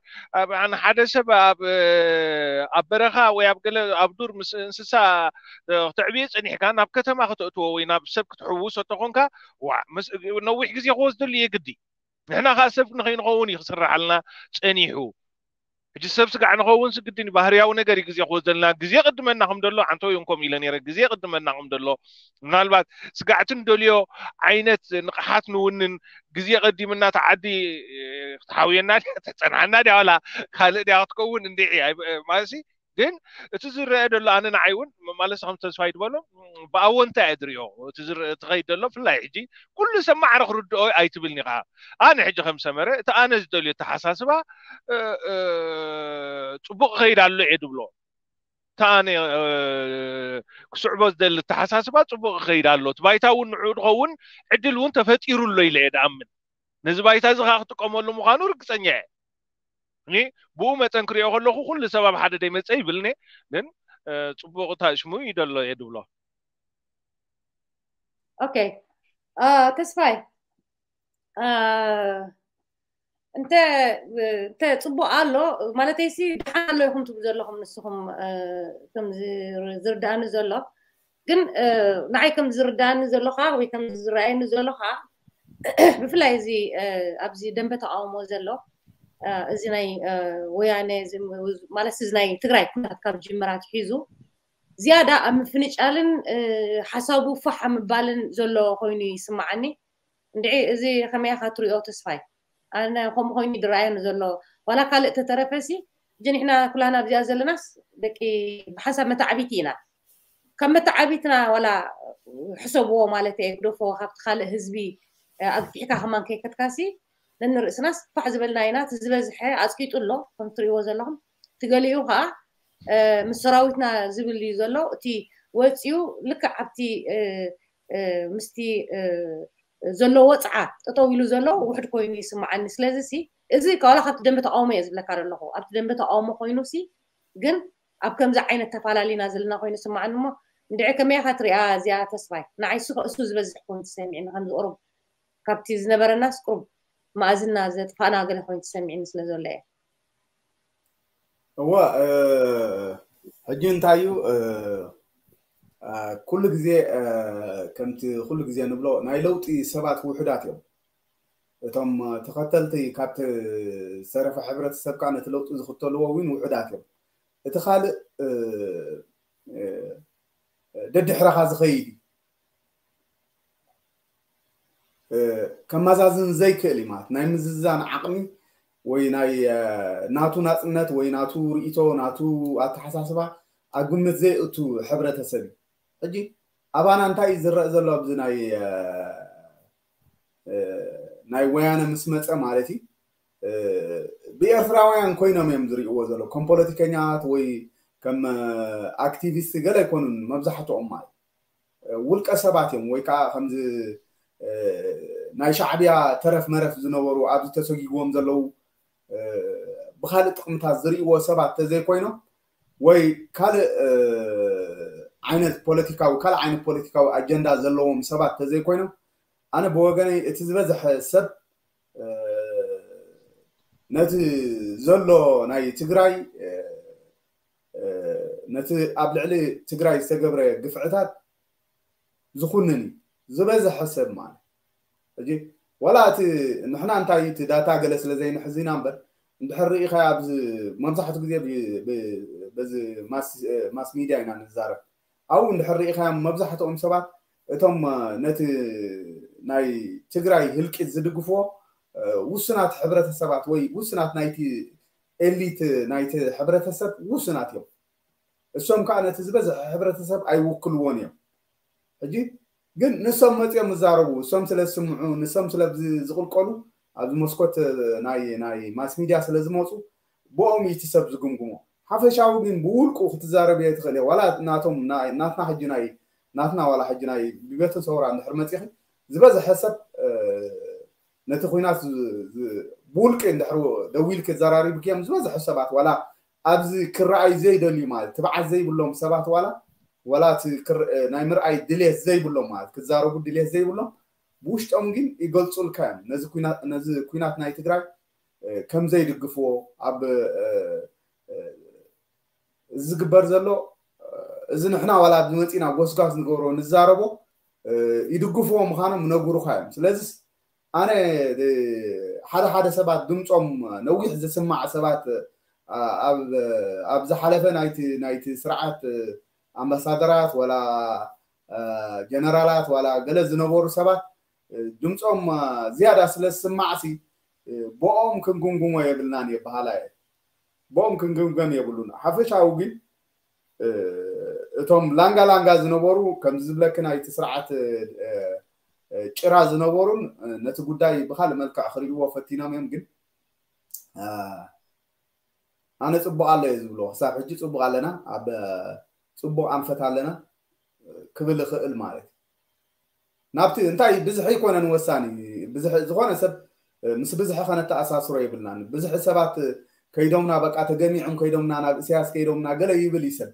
ሓደ ሰብ ኣብ ኣብ በረኻ ወይ ኣብ ገለ ኣብ ዱር ምስ እንስሳ ክተዕብየ ጸኒሕካ ናብ ከተማ ከተእትዎ ወይ ናብ ሰብ ክትሕውሶ ተኾንካ ነዊሕ ግዜ ክወስደሉ የግዲ። ንሕና ከዓ ሰብ ንኸይንኸውን እዩ ክስራሓልና ጸኒሑ። ሕጂ ሰብ ስጋዕ ንኸውን ስግድን ባህርያዊ ነገር እዩ ግዜ ክወስደልና። ግዜ ቅድመና ከም ደሎ ዓንቶ ይንኮም ኢለ ነይረ። ግዜ ቅድመና ከም ደሎ ምናልባት ስጋዕቲ እንደልዮ ዓይነት ንቕሓት ንውንን ግዜ ቀዲምና ተዓዲ ክትሓውየና ድያ ትሕፀንሓና ድያ ዋላ ካልእ ድያ ክትከውን እንዲዒ ማለት ግን እቲ ዝረአ ዘሎ ኣነ ንዓይ እውን ማለት ከም ተስፋይ ዝበሎ ብኣወንታ እየ ዝሪኦ። እቲ ዝረአ ትኸይድ ዘሎ ብፍላይ ሕጂ ኩሉ ሰብ ማዕረ ክርድኦ ኣይትብልኒ ኢኻ። ኣነ ሕጂ ከም ሰመረ እቲ ኣነ ዝደልዮ ኣተሓሳስባ ፅቡቅ ይኸይድ ኣሎ እየ ዝብሎ። ተኣነ ክስዕቦ ዝደሊ ኣተሓሳስባ ፅቡቅ ይኸይድ ኣሎ። እቲ ባይታ እውን ንዕኡ ዝኸውን ዕድል እውን ተፈጢሩ ኣሎ ኢለ እየ ዝኣምን። ነዚ ባይታ እዚ ከዓ ክጥቀመሉ ምዃኑ ርግፀኛ እየ። እኒ ብኡ መጠን ክሪኦ ከለኹ ኩሉ ሰብ ኣብ ሓደ ደይመፀ ይብልኒ፣ ግን ፅቡቅ ታሽሙ ይደሎ እየ ድብሎ። ኦኬ ተስፋይ እንተ እንተ ፅቡቅ ኣሎ ማለተይሲ ደሓን ኣሎ ኢኹም ትብሉ ዘለኹም ንስኹም ከም ዝርዳእኒ ዘሎ ግን ንዓይ ከም ዝርዳእኒ ዘሎ ከዓ ወይ ከም ዝረኣየኒ ዘሎ ከዓ ብፍላይ እዚ ኣብዚ ደንበ ተቃውሞ ዘሎ እዚ ናይ ወያነ ማለት እዚ ናይ ትግራይ ኩነታት ካብ ጅምር ኣትሒዙ ዝያዳ ኣብ ምፍንጫልን ሓሳቡ ፋሕ ኣብ ምባልን ዘሎ ኮይኑ ይስማዓኒ። እንድዒ እዚ ከመይ ኢኻ ትሪኦ ተስፋይ? ኣነ ከምኡ ኮይኑ ይድረኣየኒ ዘሎ ዋላ ካልእ ተተረፈሲ ሕጂ ንሕና ኩላና ኣብዚኣ ዘለናስ ደቂ ብሓንሳብ መተዓቢቲ ኢና። ካብ መተዓቢትና ዋላ ሕሰብዎ ማለት እየ ግደፎ ካብቲ ካልእ ህዝቢ ኣግፊሕካ ከማን ከይከድካሲ ነንርእስናስ ፋሕ ዝበልና ኢና። እቲ ዝበዝሐ ኣፅቂጡ ኣሎ ከም ትሪእዎ ዘለኹም። እቲ ገሊኡ ከዓ ምስ ሰራዊትና ዝብል እዩ ዘሎ። እቲ ወፂኡ ልክዕ ኣብቲ ምስቲ ዘሎ ወፅዓ ጠጠው ኢሉ ዘሎ ውሕድ ኮይኑ ይስምዓኒ። ስለዚ ሲ እዚ ዋላ ካብቲ ደንበ ተቃውሞ እየ ዝብለካ ዘለኹ። ኣብቲ ደንበ ተቃውሞ ኮይኑ ሲ ግን ኣብ ከምዚ ዓይነት ተፈላለና ዘለና ኮይኑ ይስምዓኒ። እሞ እንድዒ ከመይ ኢኻ ትሪኣ እዚኣ ተስፋይ? ንዓይ እሱ ዝበዝሕ ኮይኑ ተሰሚዕኒ ከምዚ ቁሩብ ካብቲ ዝነበረናስ ቁሩብ መኣዝና ዘጥፋእና ገለ ኮይኑ ተሰሚዕኒ ስለ ዘሎ እየ። እወ ሕጂ እንታይ እዩ ኩሉ ግዜ ከምቲ ኩሉ ግዜ ንብሎ ናይ ለውጢ ሰባት ውሑዳት እዮም። እቶም ተኸተልቲ ካብቲ ዝተረፈ ሕብረተሰብ ከዓ ነቲ ለውጢ ዝኽተልዎ እውን ውሑዳት እዮም። እቲ ካልእ ደድሕረኻ ዝኸይድ እዩ። ከመዛዝን ዘይክእል እዩ ማለት ናይ ምዝዛን ዓቕሚ ወይ ናይ ናቱ ናፅነት ወይ ናቱ ርእቶ ናቱ ኣተሓሳስባ ኣብ ግምት ዘይእቱ ሕብረተሰብ እዩ። ሕጂ ኣባና እንታይ እዩ ዝረአ ዘሎ ኣብዚ ናይ ናይ ወያነ ምስ መፀ ማለት እዩ ብኤርትራውያን ኮይኖም እዮም ዝርእይዎ ዘሎ ከም ፖለቲከኛት ወይ ከም ኣክቲቪስት ገለ ኣይኮኑን መብዛሕትኦም ማለት ውልቀ ሰባት እዮም ወይ ከዓ ከምዚ ናይ ሻዕብያ ተረፍ መረፍ ዝነበሩ ኣብዚ ተሰጊግዎም ዘለዉ ብካልእ ጥቅምታት ዝርእይዎ ሰባት ተዘይኮይኖም ወይ ካልእ ዓይነት ፖለቲካዊ ካልእ ዓይነት ፖለቲካዊ ኣጀንዳ ዘለዎም ሰባት ተዘይኮይኖም ኣነ ብወገነይ እቲ ዝበዝሐ ሰብ ነቲ ዘሎ ናይ ትግራይ ነቲ ኣብ ልዕሊ ትግራይ ዝተገብረ ግፍዕታት ዝኹንን እዩ ዝበዝሐ ሰብ ማለት። ሕጂ ዋላ እቲ ንሕና እንታይ እቲ ዳታ ገለ ስለ ዘይንሕዝ ኢና እምበር፣ እንድሕር ርኢኻ ኣብዚ መብዛሕትኡ ግዜ በዚ ማስ ሚድያ ኢና ንዛረብ። ኣብኡ እንድሕር ርኢኻዮም መብዛሕትኦም ሰባት እቶም ነቲ ናይ ትግራይ ህልቂት ዝድግፍዎ ውሱናት ሕብረተሰባት ወይ ውሱናት ናይቲ ኤሊት ናይቲ ሕብረተሰብ ውሱናት እዮም። እሶም ከዓ ነቲ ዝበዝሐ ሕብረተሰብ ኣይውክልዎን እዮም። ሕጂ ግን ንሶም መፅኦም ዝዛረቡ፣ እሶም ስለ ዝስምዑ፣ ንሶም ስለ ዝቕልቀሉ ኣብዚ መስኮት ናይ ናይ ማስ ሚድያ ስለ ዝመፁ ብኦም እዩ እቲ ሰብ ዝግምግሞ። ሓፈሻዊ ግን ብውልቁ ክትዛረብ እየ ትኽእል እየ። ዋላ ናቶም ናትና ሕጂ ናይ ናትና ዋላ ሕጂ ናይ ብቤትን ሰውራ እንድሕር መፂኺ ዝበዝሐ ሰብ ነቲ ኩናት ብውልቂ እንድሕር ደዊል ክዘራሪብክዮም ዝበዝሐ ሰባት ዋላ ኣብዚ ክረኣይ ዘይደልዩ ማለት ትብዓት ዘይብሎም ሰባት ዋላ ዋላ ናይ ምርኣይ ድሌት ዘይብሎም ማለት ክዛረቡ ድሌት ዘይብሎም ብውሽጦም ግን ይገልፁልካ እዮም። ነዚ ኩናት ናይ ትግራይ ከም ዘይድግፍዎ ኣብ ዝግበር ዘሎ እዚ ንሕና ዋላ ኣብዚ መፂና ጎስጓስ ንገብሮ ንዛረቦ ይድግፍዎ ምዃኖም ይነግሩኻ እዮም። ስለዚስ ኣነ ሓደ ሓደ ሰባት ድምፆም ነዊሕ ዝስማዕ ሰባት ኣብ ዝሓለፈ ናይቲ ናይቲ ስርዓት ኣምባሳደራት ዋላ ጀነራላት ዋላ ገለ ዝነበሩ ሰባት ድምፆም ዝያዳ ስለ ዝስማዕሲ ብኦም ክንግምግሞ የብልናን እየ በሃላ እየ። ብኦም ክንግምገም የብሉን። ሓፈሻዊ ግን እቶም ላንጋ ላንጋ ዝነበሩ ከምዚ ዝብለኪ ናይቲ ስርዓት ጭራ ዝነበሩን ነቲ ጉዳይ ብካልእ መልክዕ ክሪእዎ ፈቲኖም እዮም። ግን ኣነ ፅቡቅ ኣሎ እየ ዝብሎ። ክሳብ ሕጂ ፅቡቅ ኣለና፣ ኣብ ፅቡቅ ኣንፈት ኣለና ክብል ይኽእል ማለት እዩ። ናብቲ እንታይ ብዝሒ ኣይኮነን ወሳኒ። ዝኾነ ሰብ ምስ ብዝሒ ከነተኣሳስሮ የብልናን። ብዝሒ ሰባት ከይዶምና በቃ ተገሚዖም ከይዶምና ናብ እስያስ ከይዶምና ገለ ይብል እዩ ሰብ።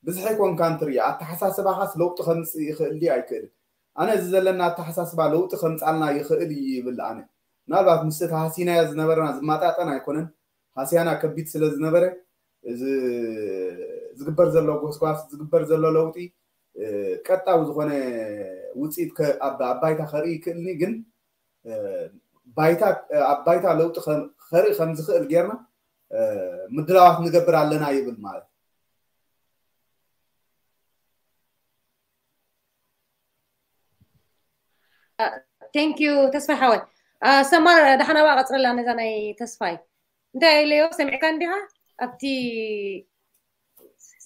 ብዝሒ ኮንካ እንትርኢ ኣተሓሳስባኻስ ለውጢ ከምፅእ ይኽእል ድዩ ኣይክእልን? ኣነ እዚ ዘለና ኣተሓሳስባ ለውጢ ከምፃልና ይኽእል እዩ ይብል ኣነ። ምናልባት ምስ እቲ ሃሲናዮ ዝነበረና ዝማጣጠን ኣይኮነን። ሃስያና ከቢድ ስለ ዝነበረ እዚ ዝግበር ዘሎ ጎስጓስ ዝግበር ዘሎ ለውጢ ቀጣዊ ዝኾነ ውፅኢት ኣብ ባይታ ከርኢ ይክእልኒ ግን ባይታ ኣብ ባይታ ለውጢ ከርኢ ከም ዝኽእል ጌርና ምድላዋት ንገብር ኣለና ይብል ማለት thank you ተስፋይ ሓወይ። ሰማር ደሓን ኣባ ቀፅለላ ነዛ ናይ ተስፋይ እንታይ ኢለዮ ሰሚዕካ እንዲኻ ኣብቲ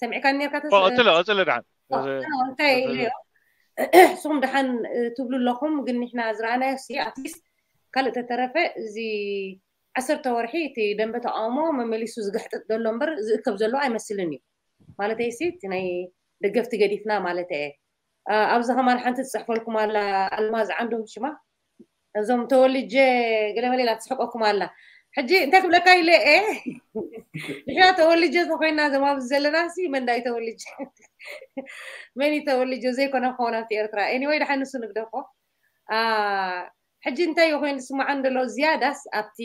ሰሚዕካ ኔርካ ቀፅለ ቀፅለ ደሓን እንታይ ኢለዮ ንስኹም ደሓን ትብሉ ኣለኹም ግን ንሕና ዝረኣናዮ ሲ ኣትሊስት ካልእ ተተረፈ እዚ ዓሰርተ ወርሒ እቲ ደንበ ተቃውሞ መመሊሱ ዝግሕጥጥ ዘሎ እምበር ዝእከብ ዘሎ ኣይመስልን እዩ ማለተይ ሲ እቲ ናይ ደገፍቲ ገዲፍና ማለት እየ ኣብዚ ከማን ሓንቲ ትፅሕፈልኩም ኣላ ኣልማዝ ዓንዶም ሽማ እዞም ተወልጀ ገለመለ ኢላ ትስሕቀኩም ኣላ ሕጂ እንታይ ክብለካ ኢለ እ ንሕና ተወልጀ ተኮይና ዘማብዚ ዘለና ሲ መን ዳይ ተወልጀ መን ተወልጀ ዘይኮነ ክኸውን ኣብቲ ኤርትራ ኤኒወይ ድሓን ንሱ ንግደፎ ሕጂ እንታይ ኮይኑ ዝስማዓን ዘሎ ዝያዳስ ኣብቲ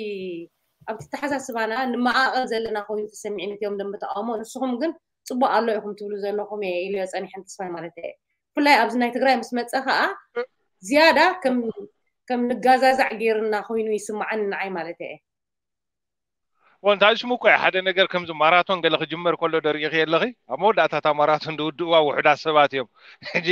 ኣብቲ ተሓሳስባና ንመዓቐብ ዘለና ኮይኑ ተሰሚዕኒ እዮም ደንበ ተቃውሞ ንስኹም ግን ፅቡቅ ኣሎ ኢኹም ትብሉ ዘለኹም እየ ኢሉ ፀኒሐን ተስፋይ ማለት እየ ብፍላይ ኣብዚ ናይ ትግራይ ምስ መፀ ከዓ ዝያዳ ከም ከም ንጋዛዛዕ ገይርና ኮይኑ ይስማዓኒ ንዓይ ማለት እየ ወንታ ሽሙ እኮ ሓደ ነገር ከምዚ ማራቶን ገለ ክጅመር ከሎ ደሪእኺ ኣለኺ ኣብ መወዳእታ እታ ማራቶን ዝውድእዋ ውሑዳት ሰባት እዮም ሕጂ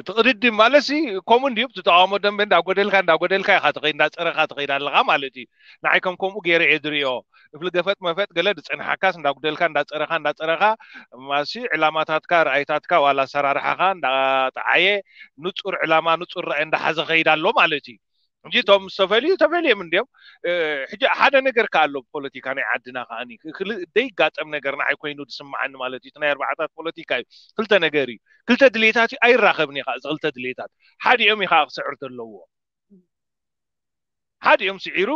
ትቕድድም ማለት ሲ ከምኡ እንድዩ ብትተቃውሞ ደንበ እንዳጎደልካ እንዳጎደልካ ኢኻ ትኸይድ እንዳፀረኻ ትኸይድ ኣለኻ ማለት እዩ ንዓይ ከም ከምኡ ገይረ እየ ዝሪኦ እፍሊ ገፈጥ መፈጥ ገለ ዝፀንሓካስ እንዳጉደልካ እንዳፀረኻ እንዳፀረኻ ማሲ ዕላማታትካ ርኣይታትካ ዋላ ኣሰራርሓኻ እንዳጠዓየ ንፁር ዕላማ ንፁር ራእይ እንዳሓዘ ኸይድ ኣሎ ማለት እዩ እንጂ እቶም ዝተፈልዩ ተፈልዮም እንዲዮም ሕጂ ሓደ ነገር ከ ኣሎ ፖለቲካ ናይ ዓድና ከዓኒ ዘይጋጠም ነገር ንዓይ ኮይኑ ዝስምዓኒ ማለት እዩ ናይ ኣርባዕታት ፖለቲካ እዩ ክልተ ነገር እዩ ክልተ ድሌታት እዩ ኣይራኸብን እዩ እዚ ክልተ ድሌታት ሓዲኦም እዩ ከዓ ክስዕር ዘለዎ ሓዲኦም ስዒሩ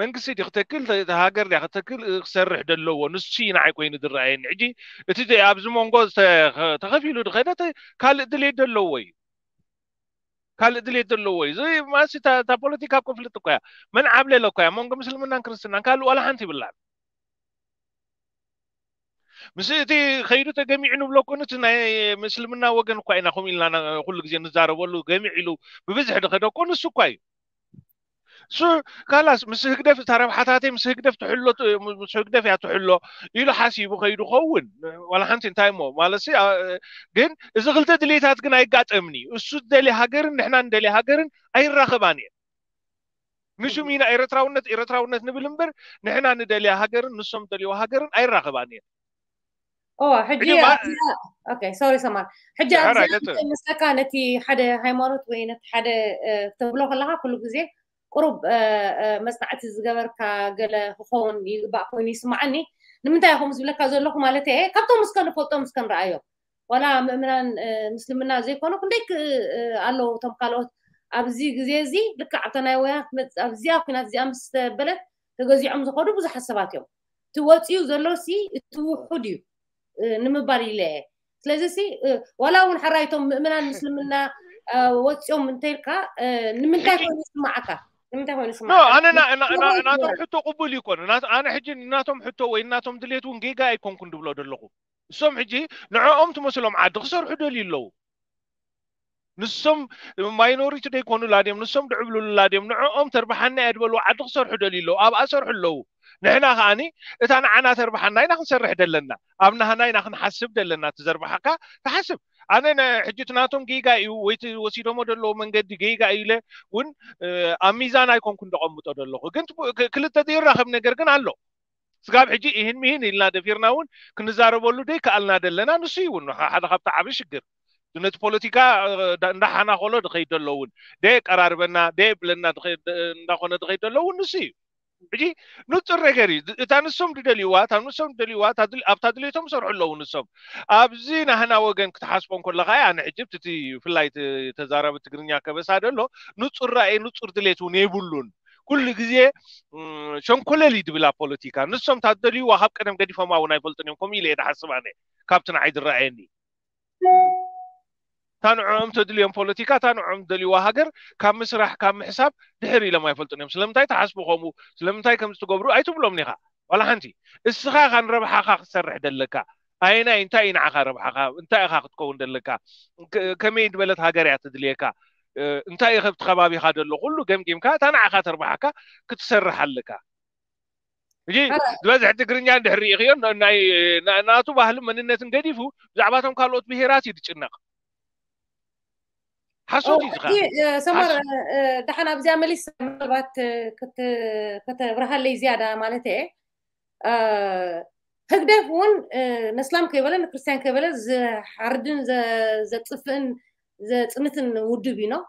መንግስቲ ዲ ክተክል ሃገር ዲያ ክተክል ክሰርሕ ዘለዎ ንሱ ንዓይ ኮይኑ ዝረኣየኒ ሕጂ እቲ ኣብዚ መንጎ ተኸፊሉ ዝኸደ ካልእ ድሌት ዘለዎ እዩ ካልእ ድሌት ዘለዎ እዩ። እዚ ማሲ እታ ፖለቲካ ኮንፍሊክት እኮ እያ። መን ዓብለለ እኮ እያ። መንጎ ምስልምናን ክርስትናን ካልእ ዋላ ሓንቲ ይብላን። ምስ እቲ ከይዱ ተገሚዑ ንብሎ እኮ፣ እቲ ናይ ምስልምና ወገን እኳ ኢና ከምኡ ኢልና ኩሉ ግዜ ንዛረበሉ። ገሚዕ ኢሉ ብብዝሒ ዝኸደ እኮ ንሱ እኳ እዩ። እሱ ካላስ ምስ ህግደፍ፣ እታ ረብሓታተይ ምስ ህግደፍ ትሕሎ፣ ምስ ህግደፍ እያ ትሕሎ ኢሉ ሓሲቡ ከይዱ ኸውን። ዋላ ሓንቲ እንታይ እሞ ማለት ሲ፣ ኣ፣ ግን እዚ ክልተ ድሌታት ግን ኣይጋጠምን እዩ። እሱ ዝደልየ ሃገርን ንሕና ንደልየ ሃገርን ኣይራኸባን እየን። ንሹም ኢና ኤርትራውነት፣ ኤርትራውነት ንብል እምበር፣ ንሕና ንደልያ ሃገርን ንሶም ደልይዋ ሃገርን ኣይራኸባን እየን። እዋ፣ ሕጂ ኣብዚኣ፣ ኦኬ፣ ሶሪ ሰማር። ሕጂ ኣብዚኣ እንታይ መስለካ፣ ነቲ ሓደ ሃይማኖት ወይ ነቲ ሓደ፣ እ፣ ክትብሎ ከለኻ ኩሉ ግዜ ቁሩብ፣ እ፣ እ፣ መጽናዕቲ ዝገበርካ ገለ ክኸውን ይግባእ ኮይኑ ይስምዓኒ። ንምንታይ ኢኹም ዝብለካ ዘለኹ ማለት እየ፣ ካብቶም እስከ ንፈልጦም እስከ ንረኣዮም። ዋላ ምእምናን፣ እ፣ ምስልምና ዘይኮኑ ክንደይ ክ-፣ እ፣ ኣለዉ እቶም ካልኦት። ኣብዚ ግዜ እዚ ልክዕ ኣብታ ናይ ወያነ ክትመጽእ፣ ኣብዚኣ ኲናት እዚኣ ምስ ተበለት ተገዚዖም ዝኸዱ ብዙሓት ሰባት እዮም። እቲ ወጺኡ ዘሎ ሲ እቲ ውሑድ እዩ፣ እ፣ ንምባል ኢለ እየ። ስለዚ ሲ፣ እ፣ ዋላ እውን ሕራይ እቶም ምእምናን ምስልምና፣ እ፣ ወጺኦም እንተኢልካ፣ እ፣ ንምንታይ ኮይኑ ይስምዓካ? ንምንታይ ኮይኑ ኖ፣ ይስምዓካ? ኣነ ና-፣ ና-፣ ና-፣ ናቶም ሕቶ ቅቡል ይኮን። ናት-፣ ኣነ ሕጂ ናቶም ሕቶ ወይ ናቶም ድሌት እውን ጌጋ ኣይኮንኩን ድብሎ ዘለኹ። እሶም ሕጂ ንዕኦም ትመስሎም ዓዲ ክሰርሑ ደልዩ ኣለዉ። ንሶም ማይኖሪቲ ደይኮኑላ ድዮም፣ ንሶም ድዕብልሉላ ድዮም፣ ንዕኦም ተርብሓና እያ ድበልዎ ዓዲ ክሰርሑ ደልዩ ኣለዉ። ኣብኣ ሰርሑ ኣለዉ። ንሕና ከኣኒ እታ ንዓና ተርብሓና ኢና ክንሰርሕ ደለና፣ ኣብ ናህና ኢና ክንሓስብ ደለና። እቲ ዘርብሓካ ትሓስብ። ኣነ ነ-፣ ሕጂ እቲ ናቶም ጌጋ እዩ ወይ እቲ ወሲዶሞ ደለዎ መንገዲ ጌጋ እዩ ኢለ እውን፣ እ፣ ኣብ ሚዛን ኣይኮንኩን ደቐምጦ ደለኹ። ግን ት-፣ ክ-፣ ክልተ ዘይራኸብ ነገር ግን ኣሎ። ስጋብ ሕጂ ይህን ሚህን ኢልና ደፊርና እውን ክንዛረበሉ ደይከኣልና ደለና ንሱ እዩ እውን ሓደ ካብቲ ዓቢ ሽግር። ነቲ ፖለቲካ፣ እ፣ እንዳ-፣ እንዳሓናኸሎ ድኸይድ ደሎ እውን፣ ደየቀራርበና፣ ደየብለና ድኸይድ-፣ እ፣ እንዳኾነ ድኸይድ ደሎ እውን ንሱ እዩ። ሕጂ ንጹር ነገር እዩ። እታ ንሶም ድደልይዋ፣ እታ ንሶም ድደልይዋ፣ እታ ድል-፣ ኣብታ ድሌቶም ሰርሑ ኣለዉ ንሶም። ኣብዚ ናህና ወገን ክትሓስቦ እንከለኻ እያ፣ ኣነ ሕጂ እቲ ብፍላይ እቲ ተዛራቢ ትግርኛ ከበሳ ደሎ፣ ንጹር ራእይ፣ ንጹር ድሌት እውን የብሉን። ኩሉ ግዜ፣ እም፣ ሸንኮለል እዩ ድብል ኣብ ፖለቲካ። ንሶም እታ ዝደልይዋ ካብ ቀደም ገዲፎማ እውን ኣይፈልጡን እዮም። ከምኡ ኢለ እየ ድሓስብ ኣነ፣ ካብቲ ንዓይ ዝረኣየኒ። እታ ንዕኦም ተድልዮም ፖለቲካ፣ እታ ንዕኦም ዝደልይዋ ሃገር ካብ ምስራሕ፣ ካብ ምሕሳብ ድሕር ኢሎም ኣይፈልጡን እዮም። ስለምንታይ ትሓስቡ ከምኡ? ስለምንታይ ከምዚ ትገብሩ ኣይትብሎም ኢኻ። ዋላ ሓንቲ። እስኻ ኢኻ ንረብሓኻ ክትሰርሕ ደለካ። ኣየናይ፣ እንታይ እዩ ንዓኻ ረብሓኻ? እንታይ ኢኻ ክትከውን ደለካ? ከ-፣ ከመይ ዝበለት ሃገር እያ ትድልየካ? እ፣ እንታይ እዩ ከብቲ ከባቢኻ ደሎ? ኩሉ ገምጊምካ እታ ንዓኻ ተርብሓካ ክትሰርሕ ኣለካ። ሕጂ ዝበዝሕ ትግርኛ እንድሕር ርኢኽዮ፣ ን-፣ ናይ፣ ና-፣ ናቱ ባህልን መንነትን ገዲፉ ብዛዕባቶም ካልኦት ብሄራት እዩ ዝጭነቕ። ሓሶት እዩ ዝኻ። ሕጂ፣ እ፣ ሰመር፣ ሓሶት። እ፣ ደሓን ኣብዚኣ መሊስ ምናልባት፣ እ፣ ክት-፣ ከተብርሃለይ ዝያዳ ማለት እየ። እ፣ ህግደፍ እውን፣ እ፣ ነስላም ከይበለ ንክርስትያን ከይበለ ዝሓርድን ዘ-፣ ዘጥፍእን ዘጽንትን ውድብ እዩ ነው።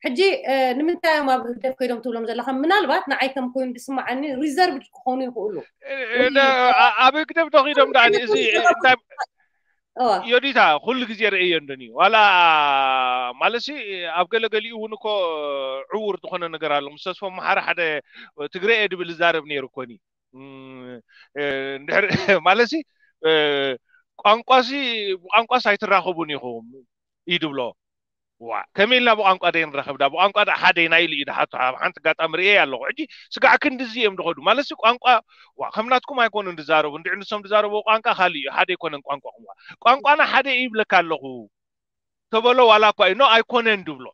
ሕጂ፣ እ፣ ንምንታይ እዮም ኣብ ህግደፍ ከይዶም ትብሎም ዘለኻ? ምናልባት ንዓይ ከም ኮይኑ ዝስምዓኒ ሪዘርቭድ ክኾኑ ይኽእሉ። እ፣ እ፣ እ፣ እ፣ ኣብ ህግደፍ ዶ ከይዶም ደኣ እዚ እንታይ እዋ። ዮዲታ ኩሉ ግዜ ርእየ እንደኒ ዋላ ማለትሲ ኣብ ገለገሊኡ እውን እኮ ዕውር ዝኾነ ነገር ኣሎ። ምስ ተስፎ መሓሪ ሓደ ትግረ እየ ድብል ዝዛረብ ነይሩ እኮኒ። እም፣ እ፣ እንድሕር ማለትሲ፣ እ፣ ቋንቋሲ፣ ብቋንቋስ ኣይትራኸቡን ኢኹም እዩ ድብሎ። ዋ፣ ከመይ ኢልና ብቋንቋ ደይ ንራኸብ ዳ? ብቋንቋ ዳ ሓደ ኢና ኢሉ እዩ ድሓቶ። ኣብ ሓንቲ ኣጋጣሚ ርእየ ኣለኹ። ሕጂ ስጋዕ ክንድዚ እዮም ድኸዱ። ማለትሲ ቋንቋ፣ ዋ፣ ከም ናትኩም ኣይኮኑን ድዛረቡ። እንድዒ ንሶም ድዛረብዎ ቋንቋ ካልእ እዩ። ሓደ ኣይኮነን ቋንቋኹም። ዋ፣ ቋንቋና ሓደ እዩ ይብለካ ኣለኹ። ተበሎ ዋላ እኳ እዩ። ኖ፣ ኣይኮነን ድብሎ።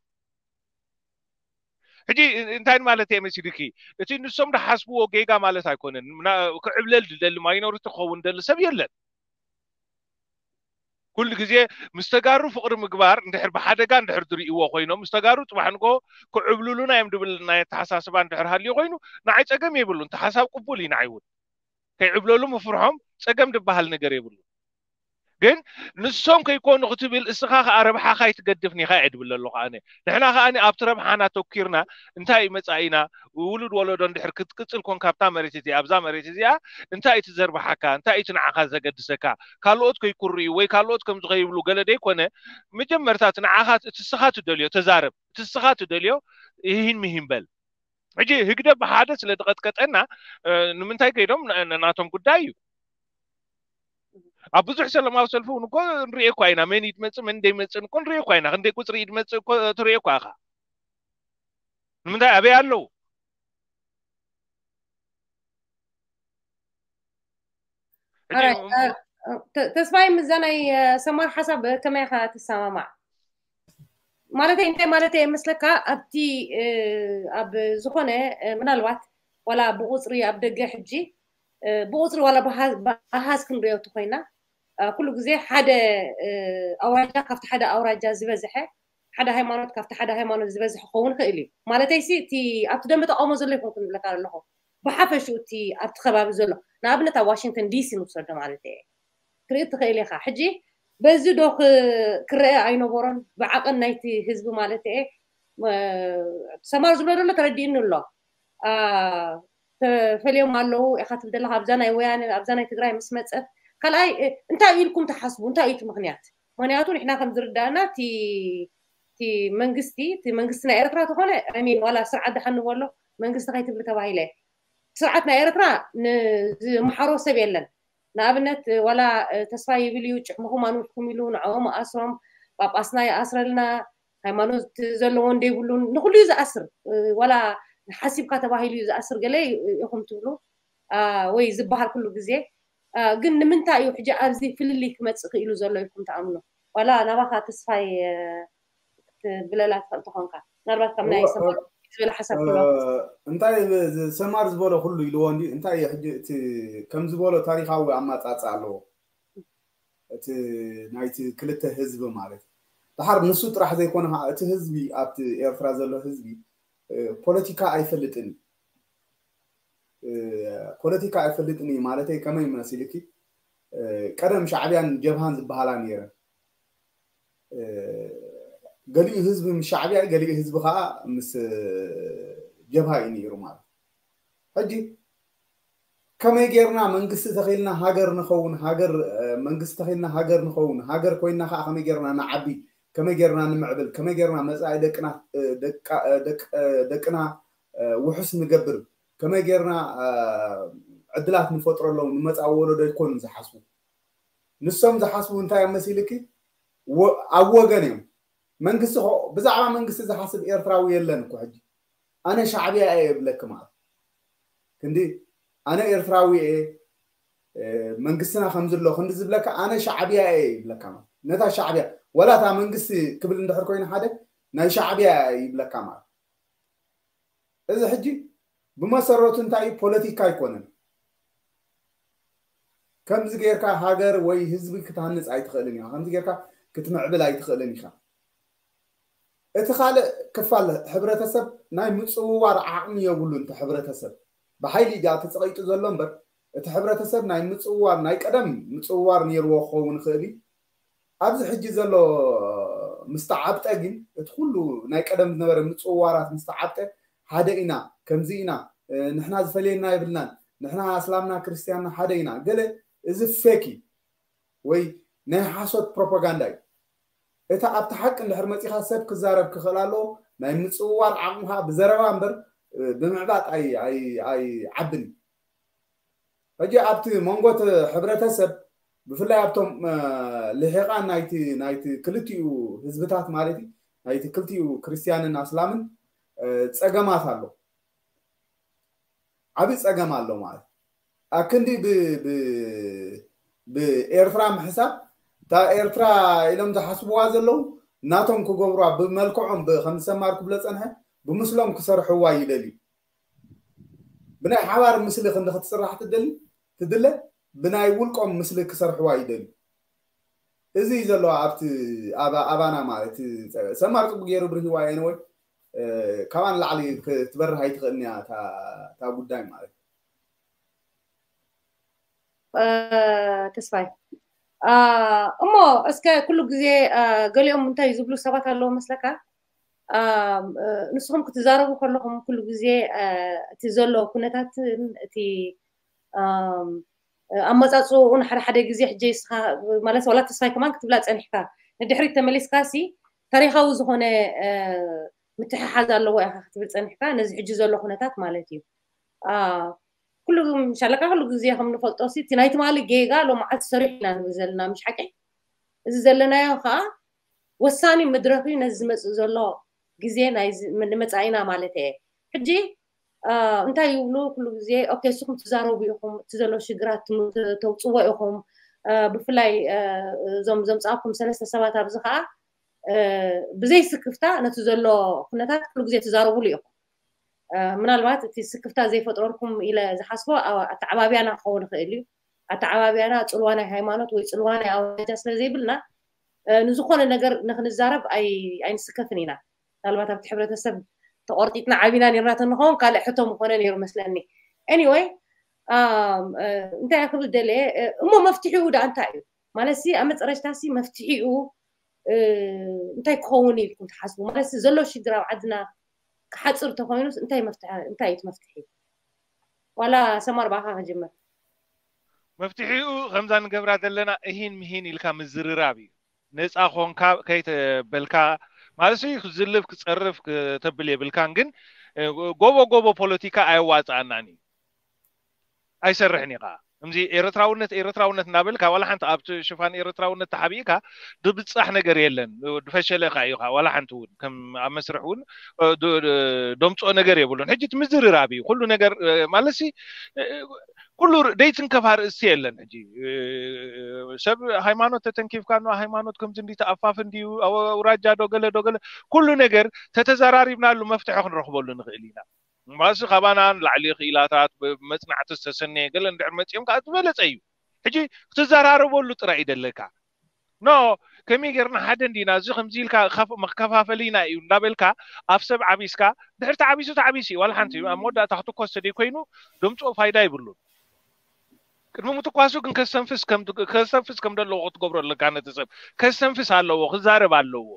ሕጂ እንታይ ማለት እየ መሲልኪ? እቲ ንሶም ድሓስብዎ ጌጋ ማለት ኣይኮነን። ምና-፣ ክዕብለል ድደሊ ማይኖሪቲ ክኸውን ደሊ ሰብ የለን። ኩሉ ግዜ ምስ ተጋሩ ፍቕሪ ምግባር እንድሕር ብሓደጋ እንድሕር ዝርእይዎ ኮይኖም፣ ምስ ተጋሩ ጽባሕ ንግሆ ክዕብልሉና እዮም ድብል ናይ ኣተሓሳስባ እንድሕር ሃልዩ ኮይኑ፣ ንዓይ ጸገም የብሉን። እቲ ሓሳብ ቅቡል እዩ ንዓይ እውን። ከይዕብለሉ ምፍርሖም ጸገም ዝበሃል ነገር የብሉን። ግን ንሶም ከይኮኑ ክትብል እስኻ ከኣ ረብሓኻ ኣይትገድፍን ኢኻ እየ ድብል ዘለኹ ኣነ። ንሕና ከኣ ኣብቲ ረብሓና ተኪርና እንታይ እዩ መጻኢና? ውሉድ ወለዶ እንድሕር ክትቅጽል ኮንካ ኣብታ መሬት እዚኣ፣ ኣብዛ መሬት እዚኣ እንታይ እዩ እቲ ዘርብሓካ? እንታይ እዩ እቲ ንዓኻ ዘገድሰካ? ካልኦት ከይኩርዩ ወይ ካልኦት ከምዚ ከይብሉ ገለ ደይኮነ፣ መጀመርታ እቲ ንዓኻ እቲ እስኻ ትደልዮ ተዛረብ። እቲ እስኻ ትደልዮ ይሂን ምሂን በል። ሕጂ ህግደፍ ብሓደ ስለ ዝቐጥቀጠና፣ እ፣ ንምንታይ ከይዶም ን-፣ ን-፣ ናቶም ጉዳይ እዩ። ኣብ ብዙሕ ሰላማዊ ሰልፊ እውን እኮ ንሪኦ እኳ ኢና፣ መን ይድመጽእ መን እንደይመጽእን እኮ ንሪኦ እኳ ኢና። ክንደይ ቁጽሪ ይድመጽእ እኮ ትሪኦ እኳ ኢኻ። ንምንታይ ኣበይ ኣለዉ? ሕጂ Alright, uh, uh, ተ- ተስፋይ፣ ምስዛ ናይ ሰማር ሓሳብ ከመይ ኢኻ ትሰማማዕ? ማለተይ እንታይ ማለተይ እየ መስለካ? ኣብቲ እ፣ ኣብ ዝኾነ እ፣ ምናልባት ዋላ ብቁፅሪ ኣብ ደገ ሕጂ እ፣ ብቁፅሪ ዋላ ብሃ- ብኣሃዝ ክንሪኦ እንተኮይና እ፣ ኩሉ ግዜ ሓደ እ፣ ኣውራጃ ካብቲ ሓደ ኣውራጃ ዝበዝሐ፣ ሓደ ሃይማኖት ካብቲ ሓደ ሃይማኖት ዝበዝሐ ክኸውን ይኽእል እዩ። ማለተይ ሲ እቲ ኣብቲ ደንበ ተቃውሞ ዘሎ ይኮንኩ ንብለካ ኣለኹ፣ ብሓፈሽኡ እቲ ኣብቲ ከባቢ ዘሎ፣ ንኣብነት ኣብ ዋሽንግተን ዲሲ ንውሰዶ ማለት እየ። ክትርኢ ትኽእል ኢኻ። ሕጂ በዚ ዶ ክ- ክረአ ኣይነበሮን? ብዓቐን ናይቲ ህዝቢ ማለት እየ። እ፣ ሰማር ዝብሎ ዘሎ ተረዲእኒ ኣሎ። አ፣ ተፈልዮም ኣለዉ ኢኻ ትብል ዘለኻ፣ ኣብዛ ናይ ወያነ ኣብዛ ናይ ትግራይ ምስ መፀት። ካልኣይ እ፣ እንታይ ኢልኩም ትሓስቡ? እንታይ እዩ እቲ ምኽንያት? ምኽንያቱ ንሕና ከም ዝርዳእና እቲ እቲ መንግስቲ እቲ መንግስቲ ናይ ኤርትራ ተኾነ ሚን ዋላ ስርዓት ደሓን ንበሎ መንግስቲ ከይትብሊ ተባሂለ። ስርዓት ናይ ኤርትራ ንዝመሓሮ ሰብ የለን። ንኣብነት ዋላ እ፣ ተስፋ ይብል እዩ፣ ጭሕምኹም ኣንውሕኩም ኢሉ ንዕኦም ኣስሮም፣ ጳጳስና ይኣስረልና፣ ሃይማኖት ዘለዎ እንደይብሉን ንኩሉ እዩ ዝኣስር። እ፣ ዋላ ሓሲብካ ተባሂሉ እዩ ዝኣስር ገለ ይ- ኢኹም ትብሉ አ፣ ወይ ዝበሃል ኩሉ ግዜ አ፣ ግን ንምንታይ እዩ ሕጂ ኣብዚ ፍልልይ ክመፅእ ክኢሉ ዘሎ ኢልኩም ትኣምኑ? ዋላ ናባኻ ተስፋይ እ፣ ክትብለላ ትኽእል ተኾንካ፣ ምናልባት ካብ ናይ እወ፣ ሰማር ዝበለ ሓሳብ እ፣ ክህልወካ። እንታይ ብ- ዝ- ሰማር ዝበሎ ኩሉ ኢልዎ እንዲ እንታይ እዩ ሕጂ እቲ ከም ዝበሎ ታሪካዊ ኣማፃፅኣ ኣለዎ እቲ ናይቲ ክልተ ህዝቢ ማለት እዩ። ድሓር ንሱ ጥራሕ ዘይኮነ ከዓ እቲ ህዝቢ ኣብቲ ኤርትራ ዘሎ ህዝቢ እ፣ ፖለቲካ ኣይፈልጥን እዩ። እ፣ ፖለቲካ ኣይፈልጥን እዩ ማለተይ ከመይ መሲልኪ እ፣ ቀደም ሻዕብያን ጀብሃን ዝበሃላ ነይረን እ፣ ገሊኡ ህዝቢ ምስ ሻዕብያ ገሊኡ ህዝቢ ከዓ ምስ እ፣ ጀብሃ እዩ ነይሩ ማለት ሕጂ ከመይ ጌርና መንግስቲ ተኺልና ሃገር ንኸውን ሃገር እ፣ መንግስቲ ተኺልና ሃገር ንኸውን ሃገር ኮይና ከዓ ከመይ ጌርና ንዓቢ ከመይ ጌርና ንምዕብል ከመይ ጌርና መፃኢ ደቅና እ፣ ደቃ- እ፣ ደቅ- እ፣ ደቅና እ፣ ውሑስ ንገብር ከመይ ጌርና እ፣ ዕድላት ንፈጥረሎም ንመፃኢ ወለዶ ኣይኮኑን ዝሓስቡ ንሶም ዝሓስቡ እንታይ እዮም መሲልኪ ወ- ኣብ ወገን እዮም መንግስቲ ኸ- ብዛዕባ መንግስቲ ዝሓስብ ኤርትራዊ የለን እኮ ሕጂ ኣነ ሻዕብያ እየ ይብለኪ ማለት ክንዲ ኣነ ኤርትራዊ እየ እ፣ መንግስትና ከም ዘሎ ክንዲ ዝብለካ ኣነ ሻዕብያ እየ ይብለካ ማለት ነታ ሻዕብያ ወላ እታ መንግስቲ ክብል እንድሕር ኮይኑ ሓደ ናይ ሻዕብያ እየ ይብለካ ማለት እዚ ሕጂ ብመሰረቱ እንታይ እዩ ፖለቲካ ኣይኮነን ከምዚ ጌርካ ሃገር ወይ ህዝቢ ክትሃንፅ ኣይትኽእልን ኢኻ ከምዚ ጌርካ ክትምዕብል ኣይትኽእልን ኢኻ እቲ ካልእ ክፋል ሕብረተሰብ ናይ ምፅውዋር ዓቕሚ የብሉን እቲ ሕብረተሰብ ብሓይሊ ጃ ተፀቒጡ ዘሎ እምበር እቲ ሕብረተሰብ ናይ ምፅውዋር ናይ ቀደም ምፅውዋር ነይርዎ ክኸውን ይኽእል እዩ ኣብዚ ሕጂ ዘሎ ምስ ተዓብጠ ግን እቲ ኩሉ ናይ ቀደም ዝነበረ ምፅውዋራት ምስ ተዓብጠ ሓደ ኢና ከምዚ ኢና ንሕና ዝፈልየና የብልናን ንሕና ኣስላምና ክርስትያንና ሓደ ኢና ገለ እዚ ፌክ እዩ ወይ ናይ ሓሶት ፕሮፓጋንዳ እዩ እቲ ኣብቲ ሓቂ እንድሕር መፂኻ ሰብ ክዛረብ ክኽእል ኣለዎ ናይ ምፅውዋር ዓቕምኻ ብዘረባ እምበር ብምዕባጥ ኣይዓብን እዩ ሕጂ ኣብቲ መንጎ እቲ ሕብረተሰብ ብፍላይ ኣብቶም ልሒቓን ናይቲ ናይቲ ክልቲኡ ህዝብታት ማለት እዩ ናይቲ ክልቲኡ ክርስትያንን ኣስላምን ፀገማት ኣሎ ዓብዪ ፀገም ኣሎ ማለት ኣክንዲ ብኤርትራ ምሕሳብ እታ ኤርትራ ኢሎም ዝሓስብዋ ዘለዉ ናቶም ክገብሩዋ ብመልክዖም ከም ዝሰማር ክብሎ ፀንሐ ብምስሎም ክሰርሕዋ ይደልዩ ብናይ ሓባር ምስሊ ክንዲ ክትስራሕ ትደሊ ትድለ ብናይ ውልቆም ምስሊ ክሰርሕዋ ይደልዩ እዚ እዩ ዘሎ ኣብቲ ኣባና ማለት ሰማር ፅቡቅ ገይሩ ብርሂዋ የነወይ ካባን ላዕሊ ክትበርህ ኣይትኽእልን እያ እታ ጉዳይ ማለት ተስፋይ እሞ እስከ ኩሉ ግዜ ገሊኦም እንታይ ዝብሉ ሰባት ኣለዉ መስለካ ንስኹም ክትዛረቡ ከለኹም ኩሉ ግዜ እቲ ዘሎ ኩነታትን እቲ ኣመፃፅኡን ሓደ ሓደ ግዜ ሕጂ ስኻ ማለት ዋላ ተስፋይ ከማን ክትብላ ፀኒሕካ ንድሕሪት ተመሊስካ ሲ ታሪካዊ ዝኾነ ምትሕሓዝ ኣለዎ ኢኻ ክትብል ፀኒሕካ ነዚ ሕጂ ዘሎ ኩነታት ማለት እዩ ኩሉ ሻለካ ኩሉ ግዜ ከም ንፈልጦ ሲ እቲ ናይ ትማሊ ጌጋ ሎመዓልቲ ሰሪሑ ኢና ንብል ዘለና ምሽ ሓቂ እዚ ዘለናዮ ከዓ ወሳኒ መድረኽ እዩ ነዚ ዝመፅእ ዘሎ ግዜ ናይ ዝ- ም- ንመጻኢና ማለት እየ። ሕጂ አ፣ እንታይ ይብሉ ኩሉ ግዜ? ኦኬ፣ ንስኹም ትዛረቡ ኢኹም፣ እቲ ዘሎ ሽግራት ትም- ተውፅዎ ኢኹም። አ፣ ብፍላይ አ፣ እዞም ዘምፃእኩም ሰለስተ ሰባት ኣብዚ ከዓ አ፣ ብዘይ ስክፍታ ነቲ ዘሎ ኩነታት ኩሉ ግዜ ትዛረቡሉ ኢኹም። አ፣ ምናልባት እቲ ስክፍታ ዘይፈጥረልኩም ኢለ ዝሓስቦ አ- ኣተዓባብያና ክኸውን ይኽእል እዩ። ኣተዓባብያና ፅልዋ ናይ ሃይማኖት ወይ ፅልዋ ናይ ኣውራጃ ስለ ዘይብልና አ፣ ንዝኾነ ነገር ንክንዛረብ ኣይ- ኣይንስከፍን ኢና። ምናልባት ኣብቲ ሕብረተሰብ ተቆርጢጥና ዓቢና ነርና ተንኸውን ካልእ ሕቶ ምኾነ ነይሩ መስለኒ። Anyway፣ እንታይ ክብል ደለ እሞ መፍትሒኡ ዳ እንታይ እዩ ማለት ሲ ኣብ መፀረሽታ ሲ መፍትሒኡ እንታይ ክኸውን ኢልኩም ትሓስቡ ማለት ሲ ዘሎ ሽግር ኣብ ዓድና ክሓፅር ተኮይኑስ እንታይ መፍትሒ እንታይ እዩ መፍትሒ? ዋላ ሰማር ብኣኻ ክጅምር። መፍትሒኡ ከምዛ ንገብራ ዘለና እሂን ምሂን ኢልካ ምዝርራብ እዩ። ነፃ ኮንካ ከይተበልካ ማለት ክዝልፍ ክፀርፍ ክተብል የብልካን። ግን ጎቦ ጎቦ ፖለቲካ ኣየዋፅኣናን እዩ፣ ኣይሰርሕን እዩ ከዓ። ከምዚ ኤርትራውነት ኤርትራውነት እናበልካ ዋላ ሓንቲ ኣብቲ ሽፋን ኤርትራውነት ተሓቢእካ ድብፃሕ ነገር የለን። ድፈሸለ ከዓ እዩ ከዓ ዋላ ሓንቲ እውን ከም ኣብ መስርሕ እውን ደምፅኦ ነገር የብሉን። ሕጂ እቲ ምዝርራብ እዩ ኩሉ ነገር ማለት ኩሉ ደይትንከፍ ኣርእስቲ የለን። ሕጂ ሰብ ሃይማኖት ተተንኪፍካ ኖ ሃይማኖት ከምዚ እንዲ ተኣፋፍ እንዲዩ ኣውራጃ ዶ ገለ ዶ ገለ ኩሉ ነገር ተተዘራሪብናሉ መፍትሒ ክንረኽበሉ ንኽእል ኢና። እምባሲ ካባና ንላዕሊ ክኢላታት መፅናዕቲ ዝተሰነየ ገለ እንድሕር መፂኦም ከዓ ዝበለፀ እዩ። ሕጂ ክትዘራረበሉ ጥራይ እዩ ደለካ። ኖ ከመይ ጌርና ሓደ እንዲና እዚ ከምዚ ኢልካ መከፋፈሊና እዩ እንዳበልካ ኣብ ሰብ ዓቢስካ ድሕር ተዓቢሱ ተዓቢሱ እዩ ዋላ ሓንቲ ኣብ መወዳእታ ክትኮስ ተደይ ኮይኑ ድምፅኦ ፋይዳ ይብሉን። ቅድሚ ምትኳሱ ግን ከስተንፍስ ከም ከስተንፍስ ከም ዘለዎ ክትገብሮ ኣለካ። ነቲ ሰብ ከስተንፍስ ኣለዎ፣ ክዛረብ ኣለዎ።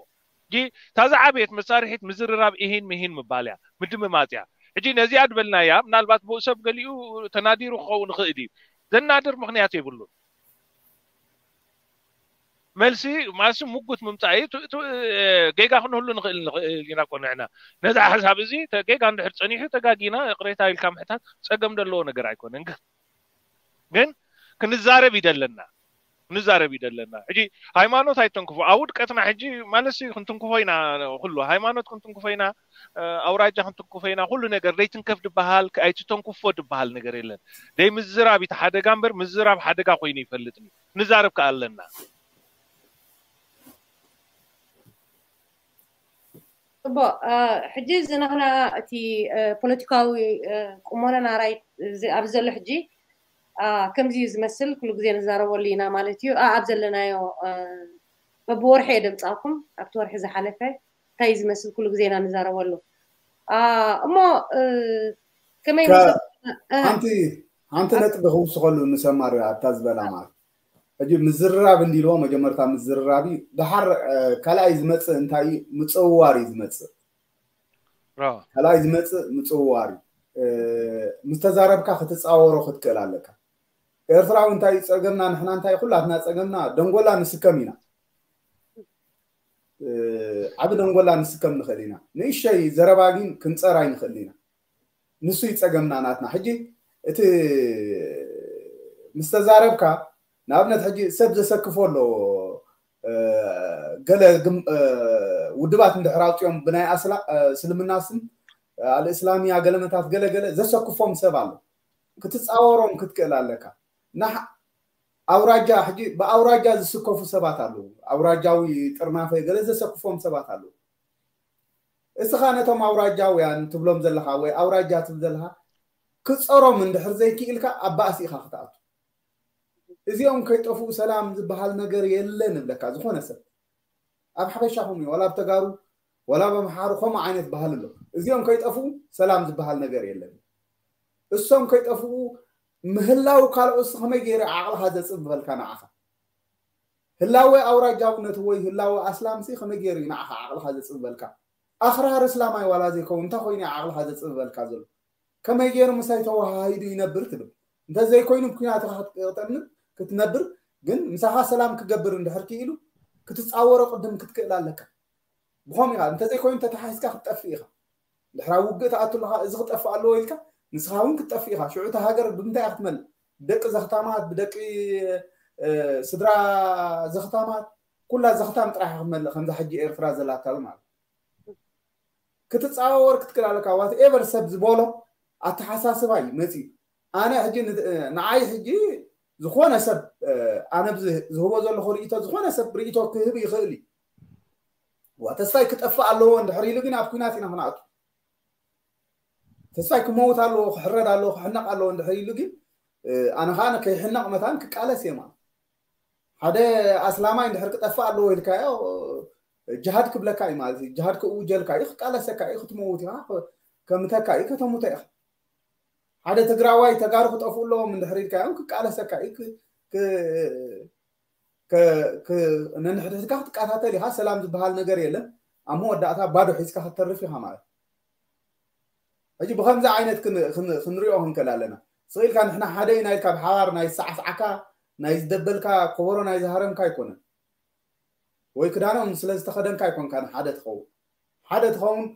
ጂ ታዛ ዓብየት መሳርሒት ምዝርራብ ኢሂን ምሂን ምባል እያ፣ ምድምማፅ እያ። ሕጂ ነዚኣ ድበልናያ ምናልባት ብኡ ሰብ ገሊኡ ተናዲሩ ክኸውን ይኽእል እዩ። ዘናድር ምኽንያት የብሉን። መልሲ ማሲ ሙጉት ምምፃእ እዩ። ጌጋ ክንህሉ ንኽእል ንኽእል ኢና እኮ ንሕና ነዚ ሓሳብ እዚ ጌጋ እንድሕር ፀኒሑ ተጋጊና ቅሬታ ኢልካ ምሕታት ፀገም ዘለዎ ነገር ኣይኮነን። ግን ግን ክንዛረብ ይደለና ክንዛረብ ይደለና። ሕጂ ሃይማኖት ኣይተንክፎ ኣብ ውድቀትና ሕጂ ማለት ክንትንክፎ ኢና። ኩሉ ሃይማኖት ክንትንክፎ ኢና፣ ኣውራጃ ክንትንክፎ ኢና። ኩሉ ነገር ደይትንከፍ ድበሃል ኣይትተንክፎ ድበሃል ነገር የለን። ደይ ምዝራብ እቲ ሓደጋ እምበር ምዝራብ ሓደጋ ኮይኑ ይፈልጥኒ። ንዛረብ ከኣ ኣለና። ጽቡቕ። ሕጂ እዚ ናህና እቲ ፖለቲካዊ ቁመናና ራይት ኣብዚ ዘሎ ሕጂ ከምዚ እዩ ዝመስል። ኩሉ ግዜ ንዛረበሉ ኢና ማለት እዩ። ኣብ ዘለናዮ በብወርሒ እየ ደምጻኩም ኣብቲ ወርሒ ዝሓለፈ እንታይ እዩ ዝመስል ኩሉ ግዜ ኢና ንዛረበሉ። እሞ ከመይ ሓንቲ ሓንቲ ነጥቢ ክውስኸሉ ንሰማር ኣብታ ዝበላ ማለት ሕጂ ምዝርራብ እንዲልዎ መጀመርታ ምዝርራብ እዩ። ደሓር ካልኣይ ዝመፅእ እንታይ እዩ? ምፅውዋር እዩ ዝመፅእ። ካልኣይ ዝመፅእ ምፅውዋር እዩ። ምስ ተዛረብካ ክትፃወሮ ክትክእል ኣለካ። ኤርትራዊ እንታይ እዩ ፀገምና? ንሕና እንታይ ኩላትና ፀገምና ደንጎላ ንስከም ኢና። ዓቢ ደንጎላ ንስከም ንኽእል ኢና። ንእሸይ ዘረባ ግን ክንፀር ኣይንኽእል ኢና። ንሱ ይፀገምና ናትና። ሕጂ እቲ ምስ ተዛረብካ ንኣብነት ሕጂ ሰብ ዘሰክፎ ኣለዎ። ገለ ውድባት እንድሕር ኣውፅኦም ብናይ ኣስላ እስልምና ስም ኣልእስላሚያ ገለመታት ገለገለ ዘሰክፎም ሰብ ኣሎ። ክትፃወሮም ክትክእል ኣለካ። ኣውራጃ ሕጂ ብኣውራጃ ዝስከፉ ሰባት ኣለዉ። ኣውራጃዊ ጥርናፈ ገለ ዘሰክፎም ሰባት ኣለዉ። እስኻ ነቶም ኣውራጃውያን ትብሎም ዘለኻ ወይ ኣውራጃ ትብል ዘለኻ ክፀሮም እንድሕር ዘይክኢልካ ኣብ ባእሲ ኢኻ ክትኣቱ። እዚኦም ከይጠፍኡ ሰላም ዝበሃል ነገር የለን እብለካ። ዝኾነ ሰብ ኣብ ሓበሻኹም እዩ ዋላ ኣብ ተጋሩ ዋላ ኣብ ኣምሓሩ ከምኡ ዓይነት ባህል ኣሎ። እዚኦም ከይጠፍኡ ሰላም ዝበሃል ነገር የለን። እሶም ከይጠፍኡ ምህላው ካልኦትሲ ከመይ ገይሩ ዓቕልኻ ዘፅብበልካ ንዓኻ? ህላወ ኣውራጃውነት ወይ ህላወ ኣስላምሲ ከመይ ገይሩ እዩ ንዓኻ ዓቕልኻ ዘፅብበልካ? ኣኽራሪ እስላማይ ዋላ ዘይከውን እንታይ ኮይኑ እዩ ዓቕልኻ ዘፅብበልካ ዘሎ? ከመይ ገይሩ ምሳይ ተወሃሂዱ ይነብር ትብል? እንተዘይኮይኑ ኩናትኻ ክትቀጥል ክትነብር ግን ምሳኻ ሰላም ክገብር እንድሕር ክኢሉ ክትፃወሮ ቅድም ክትክእል ኣለካ። ብኸም ኢኻ እንተዘይኮይኑ ተተሓሒዝካ ክትጠፍእ ኢኻ። ድሕራ ውግእ ትኣቱ ኣለኻ እዚ ክጠፍእ ኣለዎ ኢልካ ንስኻ እውን ክትጠፍእ ኢኻ። ሽዑ እታ ሃገር ብምንታይ እያ ክትመልእ? ብደቂ ዘኽታማት ብደቂ ስድራ ዘኽታማት ኩላ ዘኽታም ጥራሕ ክትመልእ ከምዛ ሕጂ ኤርትራ ዘላታ ማለት ክትፃወር ክትክል ኣለካ። ዋትኤቨር ሰብ ዝበሎ ኣተሓሳስባ እዩ መፂኡ። ኣነ ሕጂ ን- ንዓይ ሕጂ ዝኾነ ሰብ ኣነ ዝህቦ ዘለኹ ርእቶ፣ ዝኾነ ሰብ ርእቶ ክህብ ይኽእል እዩ። ዋ ተስፋይ ክጠፍእ ኣለዎ እንድሕር ኢሉ ግን ኣብ ኩናት ኢና ክንኣቱ። ተስፋይ ክመውት ኣለዎ፣ ክሕረድ ኣለዎ፣ ክሕነቕ ኣለዎ እንድሕር ኢሉ ግን ኣነ ከዓ ከይሕነቕ መታን ክቃለስ እየ ማለት። ሓደ ኣስላማይ እንድሕር ክጠፍእ ኣለዎ ኢልካዮ ጅሃድ ክብለካ እዩ ማለት እዩ። ጅሃድ ክእውጀልካ እዩ፣ ክቃለሰካ እዩ፣ ክትመውት ኢኻ፣ ከምተካ እዩ፣ ከተሙተ ኢኻ። ሓደ ትግራዋይ ተጋሩ ክጠፍኡ ኣለዎም እንድሕር ኢልካዮም ክቃለሰካ እዩ። ነንሕድሕድካ ክትቃታተል ኢኻ። ሰላም ዝበሃል ነገር የለን። ኣብ መወዳእታ ባዶ ሒዝካ ክትተርፍ ኢኻ ማለት። ሕጂ ብከምዚ ዓይነት ክንሪኦ ክንክእል ኣለና። ስቕ ኢልካ ንሕና ሓደ ኢና ኢልካ ብሓባር ናይ ዝሰዓስዓካ ናይ ዝደበልካ ኮቦሮ ናይ ዝሃረምካ ኣይኮነን። ወይ ክዳኖም ስለ ዝተኸደንካ ኣይኮንካ ሓደ ትኸውን። ሓደ ትኸውን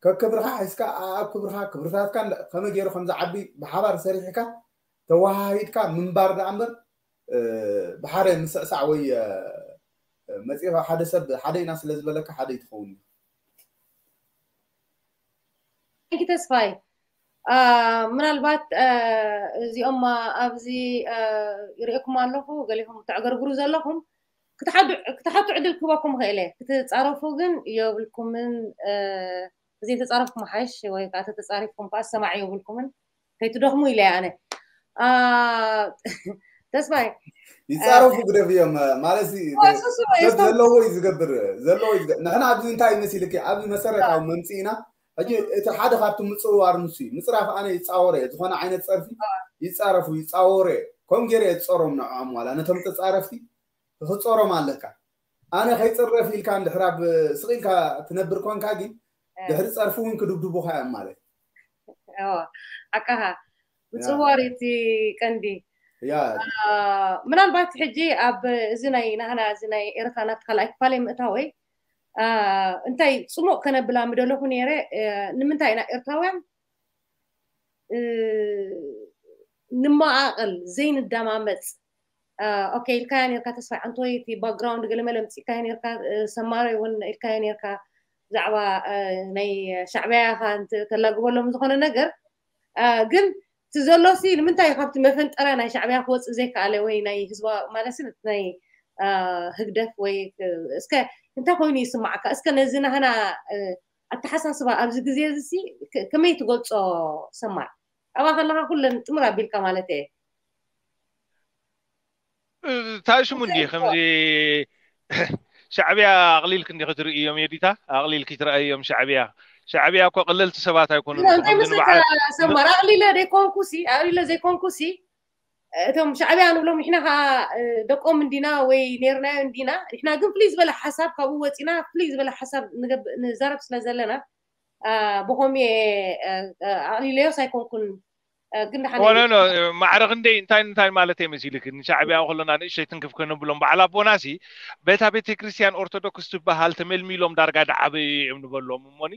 ከክብርኻ ሒዝካ ኣብ ክብርኻ ክብርታትካ ከመይ ገይሩ ከም ዝዓቢ ብሓባር ሰሪሕካ ተወሃሂድካ ምንባር ደኣ እምበር ብሓደ ምስዕሳዕ ወይ መፂኻ ሓደ ሰብ ሓደ ኢና ስለ ዝበለካ ሓደ ይትኸውን። ተስፋይ ምናልባት እዚኦም ኣብዚ ይርእየኩም ኣለኹ፣ ገሊኹም ተዕገርግሩ ዘለኹም ክትሓቱ ዕድል ክህበኩም ክእል ክትፃረፉ ግን የብልኩምን። ዘይተፃረፍኩም ሓይሽ ወይ ከዓ ተተፃሪፍኩም ከዓ ሰማዕ የብልኩምን፣ ከይትደኽሙ ኢለ ኣነ። ተስፋይ ይፃረፉ ግደፍ እዮም ማለት ዘለዎ እዩ ዝገብር። ንሕና ኣብዚ እንታይ ይመሲልክ ኣብዚ መሰረታዊ መምፅኢና ሕጂ እቲ ሓደ ካብቲ ምፅዋር ንሱ እዩ። ምፅራፍ ኣነ ይፃወረ እየ። ዝኾነ ዓይነት ፀርፊ ይፃረፉ ይፃወረ እየ። ከም ገይረ እየ ዝፀሮም ንዕኦም ዋላ ነቶም ተፃረፍቲ ክፅሮም ኣለካ። ኣነ ከይፅረፍ ኢልካ እንድሕር ኣብ ስቕ ኢልካ ትነብር ኮንካ ግን ድሕሪ ፀርፊ እውን ክድብድቡካ እዮም ማለት። ኣካኻ ምፅዋር እቲ ቀንዲ። ምናልባት ሕጂ ኣብ እዚ ናይ ናህና እዚ ናይ ኤርትራ ናብቲ ካልኣይ ክፋለይ ምእታወይ እንታይ ፅሙቕ ከነብላ ምደለኹ ነይረ። ንምንታይ ኢና ኤርትራውያን ንመቓቐል ዘይንደማመፅ? ኦኬ ኢልካዮ ነርካ ተስፋይ ዓንቶይ፣ እቲ ባክግራውንድ ገለመለ ምፅእካዮ ነርካ፣ ሰማራይ እውን ኢልካዮ ነርካ ብዛዕባ ናይ ሻዕብያ ኢኻ ተላግበሎም ዝኾነ ነገር። ግን እቲ ዘሎሲ ንምንታይ ካብቲ መፈንጠርያ ናይ ሻዕብያ ክወፅእ ዘይከኣለ ወይ ናይ ህዝባ ማለት ናይ ህግደፍ ወይ እስከ እንታይ ኮይኑ ይስማዓካ? እስከ ነዚ ናህና ኣተሓሳስባ ኣብዚ ግዜ እዚ ከመይ ትገልፆ? ሰማር ኣብኣ ከለካ ኩለን ጥምር ኣቢልካ ማለት እየ። ታሽሙ እንዲ ከምዚ ሻዕብያ ኣቕሊልክ እንዲ ክትርእዮም የዲታ ኣቕሊልክ ትረኣዮም ሻዕብያ ሻዕብያ እኮ ቅልልቲ ሰባት ኣይኮኑን። ሰማር ኣቕሊለ ዘይኮንኩሲ ኣቕሊለ ዘይኮንኩሲ እቶም ሻዕብያ ንብሎም ንሕና ከዓ ደቆም እንዲና ወይ ኔርናዮ እንዲና። ንሕና ግን ፍልይ ዝበለ ሓሳብ ካብኡ ወፂና ፍልይ ዝበለ ሓሳብ ንዛረብ ስለ ዘለና ብኸምኡ ኣቕሊለዮስ ኣይኮንኩን። ግን ማዕረ ክንደይ እንታይ እንታይ ማለት እየ መሲልክ ንሻዕብያ ከለና ንእሸይ ትንክፍ ከነብሎም በዓል ኣቦናሲ በታ ቤተክርስትያን ኦርቶዶክስ ትበሃል ተመልሚሎም ዳርጋ ደዓበዩ እዮም ንበሎም እሞኒ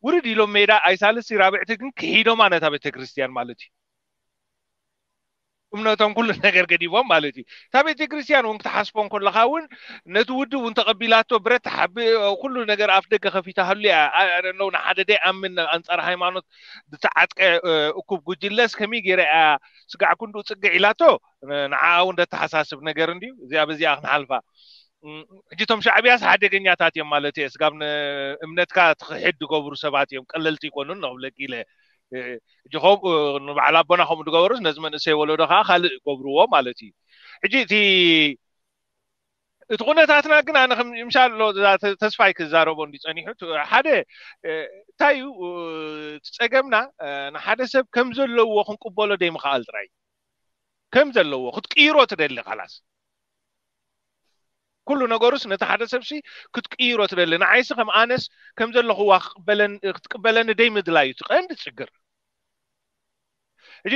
ውርድ ኢሎም ሜዳ ኣይሳልስቲ ራብዕቲ ግን ክሒዶማ ነታ ቤተክርስትያን ማለት እዩ። እምነቶም ኩሉ ነገር ገዲቦም ማለት እዩ። እታ ቤተክርስትያን እውን ክትሓስቦ እንከለካ እውን ነቲ ውድብ እውን ተቐቢላቶ ብረት ሓቢ ኩሉ ነገር ኣፍ ደገ ከፊታሃሉ እያ። ኣነው ንሓደ ደይ ኣምን ኣንፃር ሃይማኖት ዝተዓጥቀ እኩብ ጉጅለስ ከመይ ገይረ እያ ስጋዕ ክንዱ ፅግዕ ኢላቶ ንዓ እውን ደተሓሳስብ ነገር እንድዩ። እዚኣ በዚኣ ክንሓልፋ ሕጂ እቶም ሻዕብያስ ሓደገኛታት እዮም ማለት እየ። ስጋብ እምነትካ ትኽሕድ ዝገብሩ ሰባት እዮም፣ ቀለልቲ ይኮኑን ንኽብለኪ ኢለ። ሕጂ ከምኡ ንበዓል ኣቦና ከምኡ ዝገበሩስ ነዚ መንእሰይ ወለዶ ከዓ ካልእ ይገብርዎ ማለት እዩ። ሕጂ እቲ እቲ ኩነታትና ግን ኣነ ምሻሎ ተስፋይ ክዛረቦ እንዲ ፀኒሑ ሓደ እንታይ እዩ እቲ ፀገምና ንሓደ ሰብ ከም ዘለዎ ክንቅበሎ ደይምክኣል ጥራይ ከም ዘለዎ ክትቅይሮ ትደሊ ካላስ ኩሉ ነገሩስ ነቲ ሓደ ሰብሲ ክትቅይሮ ትደሊ ንዓይሲ ከም ኣነስ ከም ዘለኹዋ ክትቅበለኒ ደይ ምድላይ እዩ ቀንዲ ችግር። ሕጂ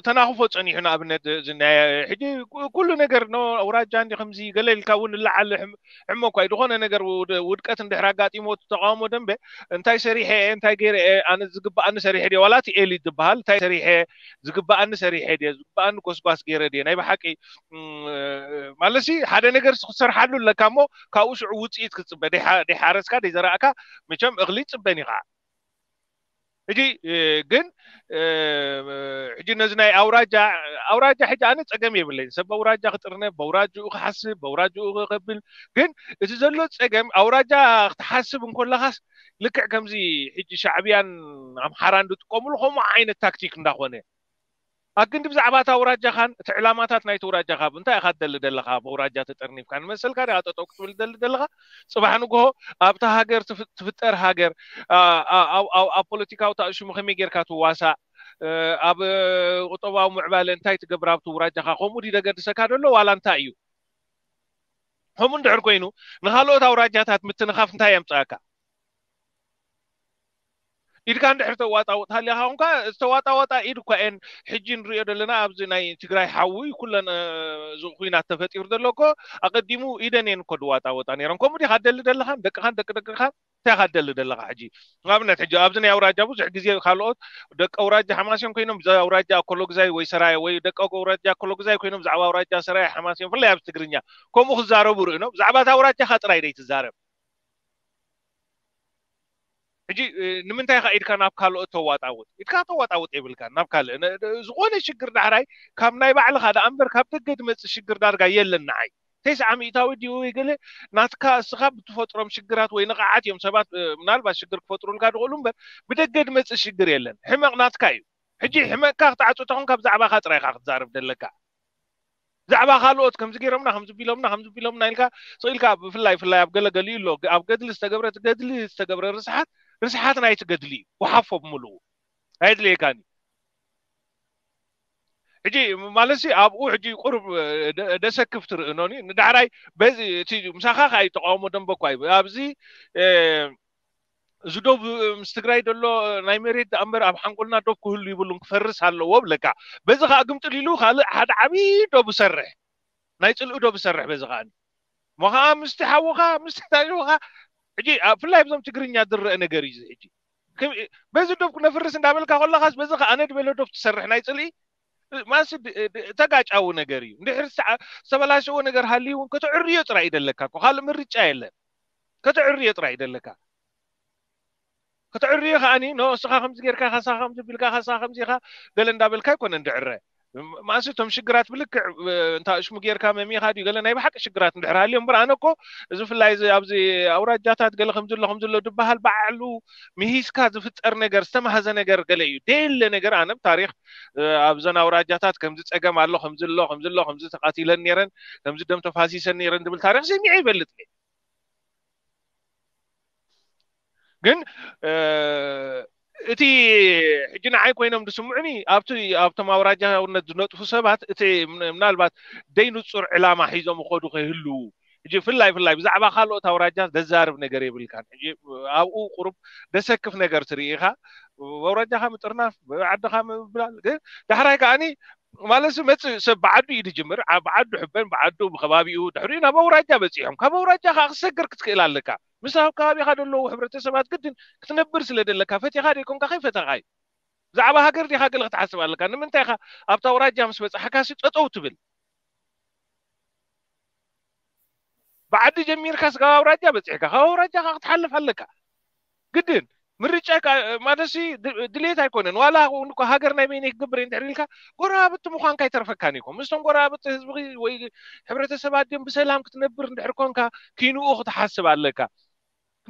ተናኽፎ ጸኒሑ ንኣብነት ዝናየ ሕጂ ኩሉ ነገር ኖ ኣውራጃ እንዲ ከምዚ ገለ ኢልካ እውን ንላዓል ሕሞ እኳ ዝኾነ ነገር ውድቀት እንድሕር ኣጋጢሞ ተቃውሞ ደንበ እንታይ ሰሪሐ እንታይ ገይረ ኣነ ዝግባኣኒ ሰሪሐ ድየ ዋላ እቲ ኤሊት ዝበሃል እንታይ ሰሪሐ ዝግባኣኒ ሰሪሐ ድየ ዝግባኣኒ ጎስጓስ ገይረ ድየ ናይ ብሓቂ ማለሲ ሓደ ነገር ክትሰርሓሉ ኣለካ እሞ ካብኡ ሽዑ ውፅኢት ክትፅበ ደይሓረስካ ደይዘራእካ መቸም እኽሊ ትፅበን ኢኻ ሕጂ ግን ሕጂ ነዚ ናይ ኣውራጃ ኣውራጃ ሕጂ ኣነ ፀገም የብለይ ሰብ ኣውራጃ ክጥርነ በውራጅኡ ክሓስብ በውራጅኡ ከብል ግን እቲ ዘሎ ፀገም ኣውራጃ ክትሓስብ እንኮለኻስ ልክዕ ከምዚ ሕጂ ሻዕብያን ኣምሓራን ዝጥቀምሉ ከምኡ ዓይነት ታክቲክ እንዳኾነ ኣክንዲ ብዛዕባ እታ ኣውራጃኻን እቲ ዕላማታት ናይቲ ኣውራጃኻ እንታይ ኢኻ ትደሊ ዘለኻ ብኣውራጃ ተጠርኒፍካ ንመሰልካ ዲኻ ጠጠው ክትብል ትደሊ ዘለኻ ፅባሕ ንግሆ ኣብታ ሃገር ትፍጠር ሃገር ኣብ ፖለቲካዊ ታእሽሙ ከመይ ጌርካ ትዋሳእ ኣብ ቁጠባዊ ምዕባለ እንታይ ትገብር ኣብቲ ኣውራጃኻ ከምኡ ዲ ደገድሰካ ደሎ ዋላ እንታይ እዩ ከምኡ እንድሕር ኮይኑ ንካልኦት ኣውራጃታት ምትንኻፍ እንታይ የምፅኣካ ኢድካ እንድሕር ተዋጣውጥ ሃሊኻ እንኳ ዝተዋጣወጣ ኢድ እኳ እየን ሕጂ ንሪኦ ዘለና ኣብዚ ናይ ትግራይ ሓዊ ኩለን እዚ ኩናት ተፈጢሩ ዘሎ እኮ ኣቀዲሙ ኢደን እየን እኮ ዝዋጣወጣ ነይረን ከምኡ ዲኻ ደሊ ደለኻን ደቅኻን ደቂ ደቅኻን እንታይ ኢኻ ደሊ ደለኻ ሕጂ ንኣብነት ሕጂ ኣብዚ ናይ ኣውራጃ ብዙሕ ግዜ ካልኦት ደቂ ኣውራጃ ሓማስዮን ኮይኖም ብዛ ኣውራጃ ኣኮሎግዛይ ወይ ሰራየ ወይ ደቂ ኣውራጃ ኣኮሎግዛይ ኮይኖም ብዛዕባ ኣውራጃ ሰራየ ሓማስዮን ፍላይ ኣብዚ ትግርኛ ከምኡ ክዛረቡ ርእኖ ብዛዕባ እታ ኣውራጃኻ ጥራይ ደይትዛረብ ሕጂ ንምንታይ ኢኻ ኢድካ ናብ ካልኦት ተዋጣውጥ ኢድካ ተዋጣውጥ የብልካ ናብ ካልእ ዝኾነ ሽግር ዳሕራይ ካብ ናይ ባዕልኻ ደኣ እምበር ካብ ደገ ድመፅእ ሽግር ዳርጋ የለን ንዓይ ተስዓ ሚእታዊ ድዩ ወይ ገለ ናትካ እስኻ ብትፈጥሮም ሽግራት ወይ ንቕዓት እዮም ሰባት ምናልባት ሽግር ክፈጥሩልካ ድኽእሉ እምበር ብደገ ድመፅእ ሽግር የለን ሕመቕ ናትካ እዩ ሕጂ ሕመቕካ ክትዓፁ ተኾንካ ብዛዕባኻ ጥራይካ ክትዛረብ ደለካ ብዛዕባ ካልኦት ከምዚ ገይሮምና ከምዚ ቢሎምና ከምዚ ቢሎምና ኢልካ ስቕ ኢልካ ብፍላይ ፍላይ ኣብ ገለ ገሊኡ ኣሎ ኣብ ገድሊ ዝተገብረ ገድሊ ዝተገብረ ርስሓት ርስሓት ናይቲ ገድሊ እዩ ወሓፎ ብምልኡ ኣየድልየካን እዩ ሕጂ ማለት ሲ ኣብኡ ሕጂ ቁሩብ ደሰክፍ ትርእኖኒ ንዳሕራይ በዚ እቲ ምሳኻ ከዓ ተቃውሞ ደንበ እኳ እዩ ኣብዚ እዚ ዶብ ምስ ትግራይ ዘሎ ናይ መሬት ደኣ እምበር ኣብ ሓንጎልና ዶብ ክህሉ ይብሉን ክፈርስ ኣለዎ ብለካ በዚ ከዓ ግምጥል ኢሉ ካልእ ሓደ ዓብዪ ዶብ ሰርሕ ናይ ፅልኢ ዶብ ሰርሕ በዚ ከዓ እሞ ከዓ ምስቲ ሓውኻ ምስቲ ታሪኽኻ ሕጂ ብፍላይ ብዞም ትግርኛ ዝረአ ነገር እዩ ሕጂ በዚ ዶብ ክነፍርስ እንዳበልካ ከለኻስ በዚ ከዓ ኣነ ድበለ ዶብ ትሰርሕ ናይ ፅልኢ ማሲ ተጋጫዊ ነገር እዩ እንድሕር ዝተበላሸዎ ነገር ሃልዩ እውን ከተዕርዮ ጥራይ ይደለካ እኮ ካልእ ምርጫ የለን ከተዕርዮ ጥራይ ይደለካ ከተዕርዮ ከዓኒ ኖ እስኻ ከምዚ ጌርካ ካሳ ከምዚ ቢልካ ካሳ ከምዚ ኢኻ ገለ እንዳበልካ ኣይኮነን ድዕረ ማእሲ እቶም ሽግራት ብልክዕ እንታ ሽሙ ጌርካ መሚኻ ድዩ ገለ ናይ ብሓቂ ሽግራት እንድሕር ሃልዮም እምበር ኣነ እኮ እዚ ፍላይ እዚ ኣብዚ ኣውራጃታት ገለ ከምዝሎ ከምዝሎ ድበሃል ባዕሉ ምሂዝካ ዝፍጠር ነገር ዝተማህዘ ነገር ገለ እዩ ደየለ ነገር ኣነ ታሪክ ኣብዘን ኣውራጃታት ከምዚ ፀገም ኣሎ ከምዝሎ ከምዝሎ ከምዚ ተቃቲለን ነረን ከምዚ ደም ተፋሲሰን ነረን ዝብል ታሪክ ሰሚዐ ይፈልጥ ግን እቲ ሕጂ ንዓይ ኮይኖም ዝስምዑኒ ኣብቲ ኣብቶም ኣውራጃውነት ዝነጥፉ ሰባት እቲ ምናልባት ደይንፁር ዕላማ ሒዞም ይኸዱ ከይህልዉ ሕጂ ፍላይ ፍላይ ብዛዕባ ካልኦት ኣውራጃ ዘዛርብ ነገር የብልካን ሕጂ ኣብኡ ቁሩብ ደሰክፍ ነገር ትርኢ ኢኻ ኣውራጃኻ ምጥርናፍ ዓድኻ ምብላል ግን ዳሕራይ ከዓኒ ማለት መፅእ ሰብ ብዓዱ እዩ ዝጅምር ብዓዱ ሕበን ብዓዱ ብከባቢኡ ድሕሪኡ ናብ ኣውራጃ በፂሖም ካብ ኣውራጃ ከዓ ክሰግር ክትክእል ኣለካ ምስ ኣብ ከባቢኻ ዘለዉ ሕብረተሰባት ግድን ክትነብር ስለ ዘለካ ፈቲኻ ደይኮንካ ከይፈተኻ እዩ ብዛዕባ ሃገር ዲኻ ገለ ክትሓስብ ኣለካ ንምንታይ ኢኻ ኣብታ ኣውራጃ ምስ በፃሕካ ሲ ጠጠው ትብል ብዓዲ ጀሚርካ ስጋብ ኣውራጃ በፂሕካ ካብ ኣውራጃ ካ ክትሓልፍ ኣለካ ግድን ምርጫ ማለትሲ ድሌት ኣይኮነን ዋላ እውን እኮ ሃገር ናይ በይነይ ክገብር እንድሕር ኢልካ ጎረባብቲ ምዃንካ ኣይተርፈካን ይኮ ምስቶም ጎረባብቲ ህዝቢ ወይ ሕብረተሰብ ኣድዮም ብሰላም ክትነብር እንድሕር ኮንካ ኪንኡ ክትሓስብ ኣለካ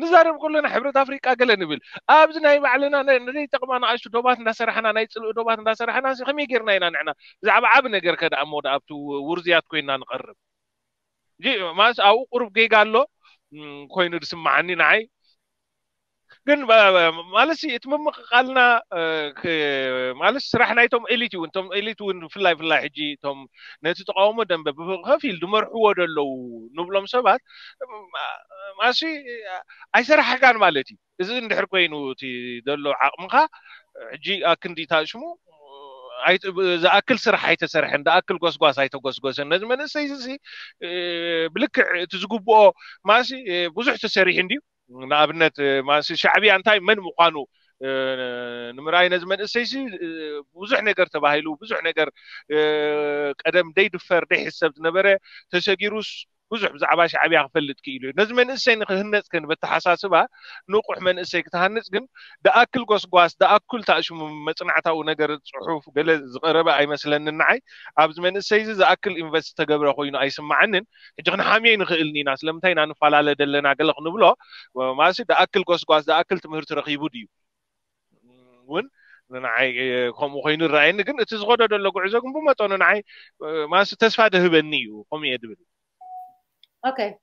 ንዛረብ ከለና ሕብረት ኣፍሪቃ ገለ ንብል ኣብዚ ናይ ባዕልና ንዘይጠቕማ ንኣሽቱ ዶባት እንዳሰራሕና ናይ ፅልኢ ዶባት እንዳሰራሕና ከመይ ጌርና ኢና ንዕና ብዛዕባ ዓብ ነገር ከደኣ ሞ ኣብቲ ውርዝያት ኮይና ንቐርብ ማስ ኣብኡ ቁሩብ ጌጋ ኣሎ ኮይኑ ዝስማዓኒ ንዓይ ግን ማለት እቲ ምምቕቓልና ማለት ስራሕ ናይቶም ኤሊት እውን እቶም ኤሊት እውን ፍላይ ፍላይ ሕጂ እቶም ነቲ ተቃውሞ ደንበ ብከፊል ዝመርሕዎ ዘለዉ ንብሎም ሰባት ማሲ ኣይሰራሕካን ማለት እዩ እዚ እንድሕር ኮይኑ እቲ ዘሎ ዓቕምኻ ሕጂ ኣክንዲታ ሽሙ ዝኣክል ስራሕ ኣይተሰርሐን፣ ዝኣክል ጎስጓስ ኣይተጎስጎሰን። ነዚ መንእሰይ እዚ ብልክዕ እቲ ዝግብኦ ማሲ ብዙሕ ተሰሪሑ እንድዩ። ንኣብነት ማሲ ሻዕብያ እንታይ መን ምዃኑ ንምርኣይ ነዚ መንእሰይሲ ብዙሕ ነገር ተባሂሉ፣ ብዙሕ ነገር ቀደም ደይድፈር ደይሕሰብ ዝነበረ ተሰጊሩስ ብዙሕ ብዛዕባ ሻዕብያ ክፈልጥ ክኢሉ እዩ። ነዚ መንእሰይ ንክህነፅ ግን በተሓሳስባ ንቑሕ መንእሰይ ክትሃንፅ ግን ደኣክል ጎስጓስ፣ ደኣክል ታእሽሙ መፅናዕታዊ ነገር ፅሑፍ ገለ ዝቐረበ ኣይመስለንን ንዓይ። ኣብዚ መንእሰይ እዚ ዝኣክል ኢንቨስት ተገብረ ኮይኑ ኣይስማዓንን። ሕጂ ክንሓምዮ ንኽእል ኢና፣ ስለምንታይ ኢና ንፈላለ ደለና ገለ ክንብሎ ማሲ ደኣክል ጎስጓስ፣ ደኣክል ትምህርቲ ረኺቡ ድዩ እውን ንዓይ ከምኡ ኮይኑ ይረኣየኒ። ግን እቲ ዝኸዶ ዘሎ ጉዕዞ ግን ብመጠኑ ንዓይ ማሲ ተስፋ ደህበኒ እዩ። ከምኡ እየ ድብል። Okay.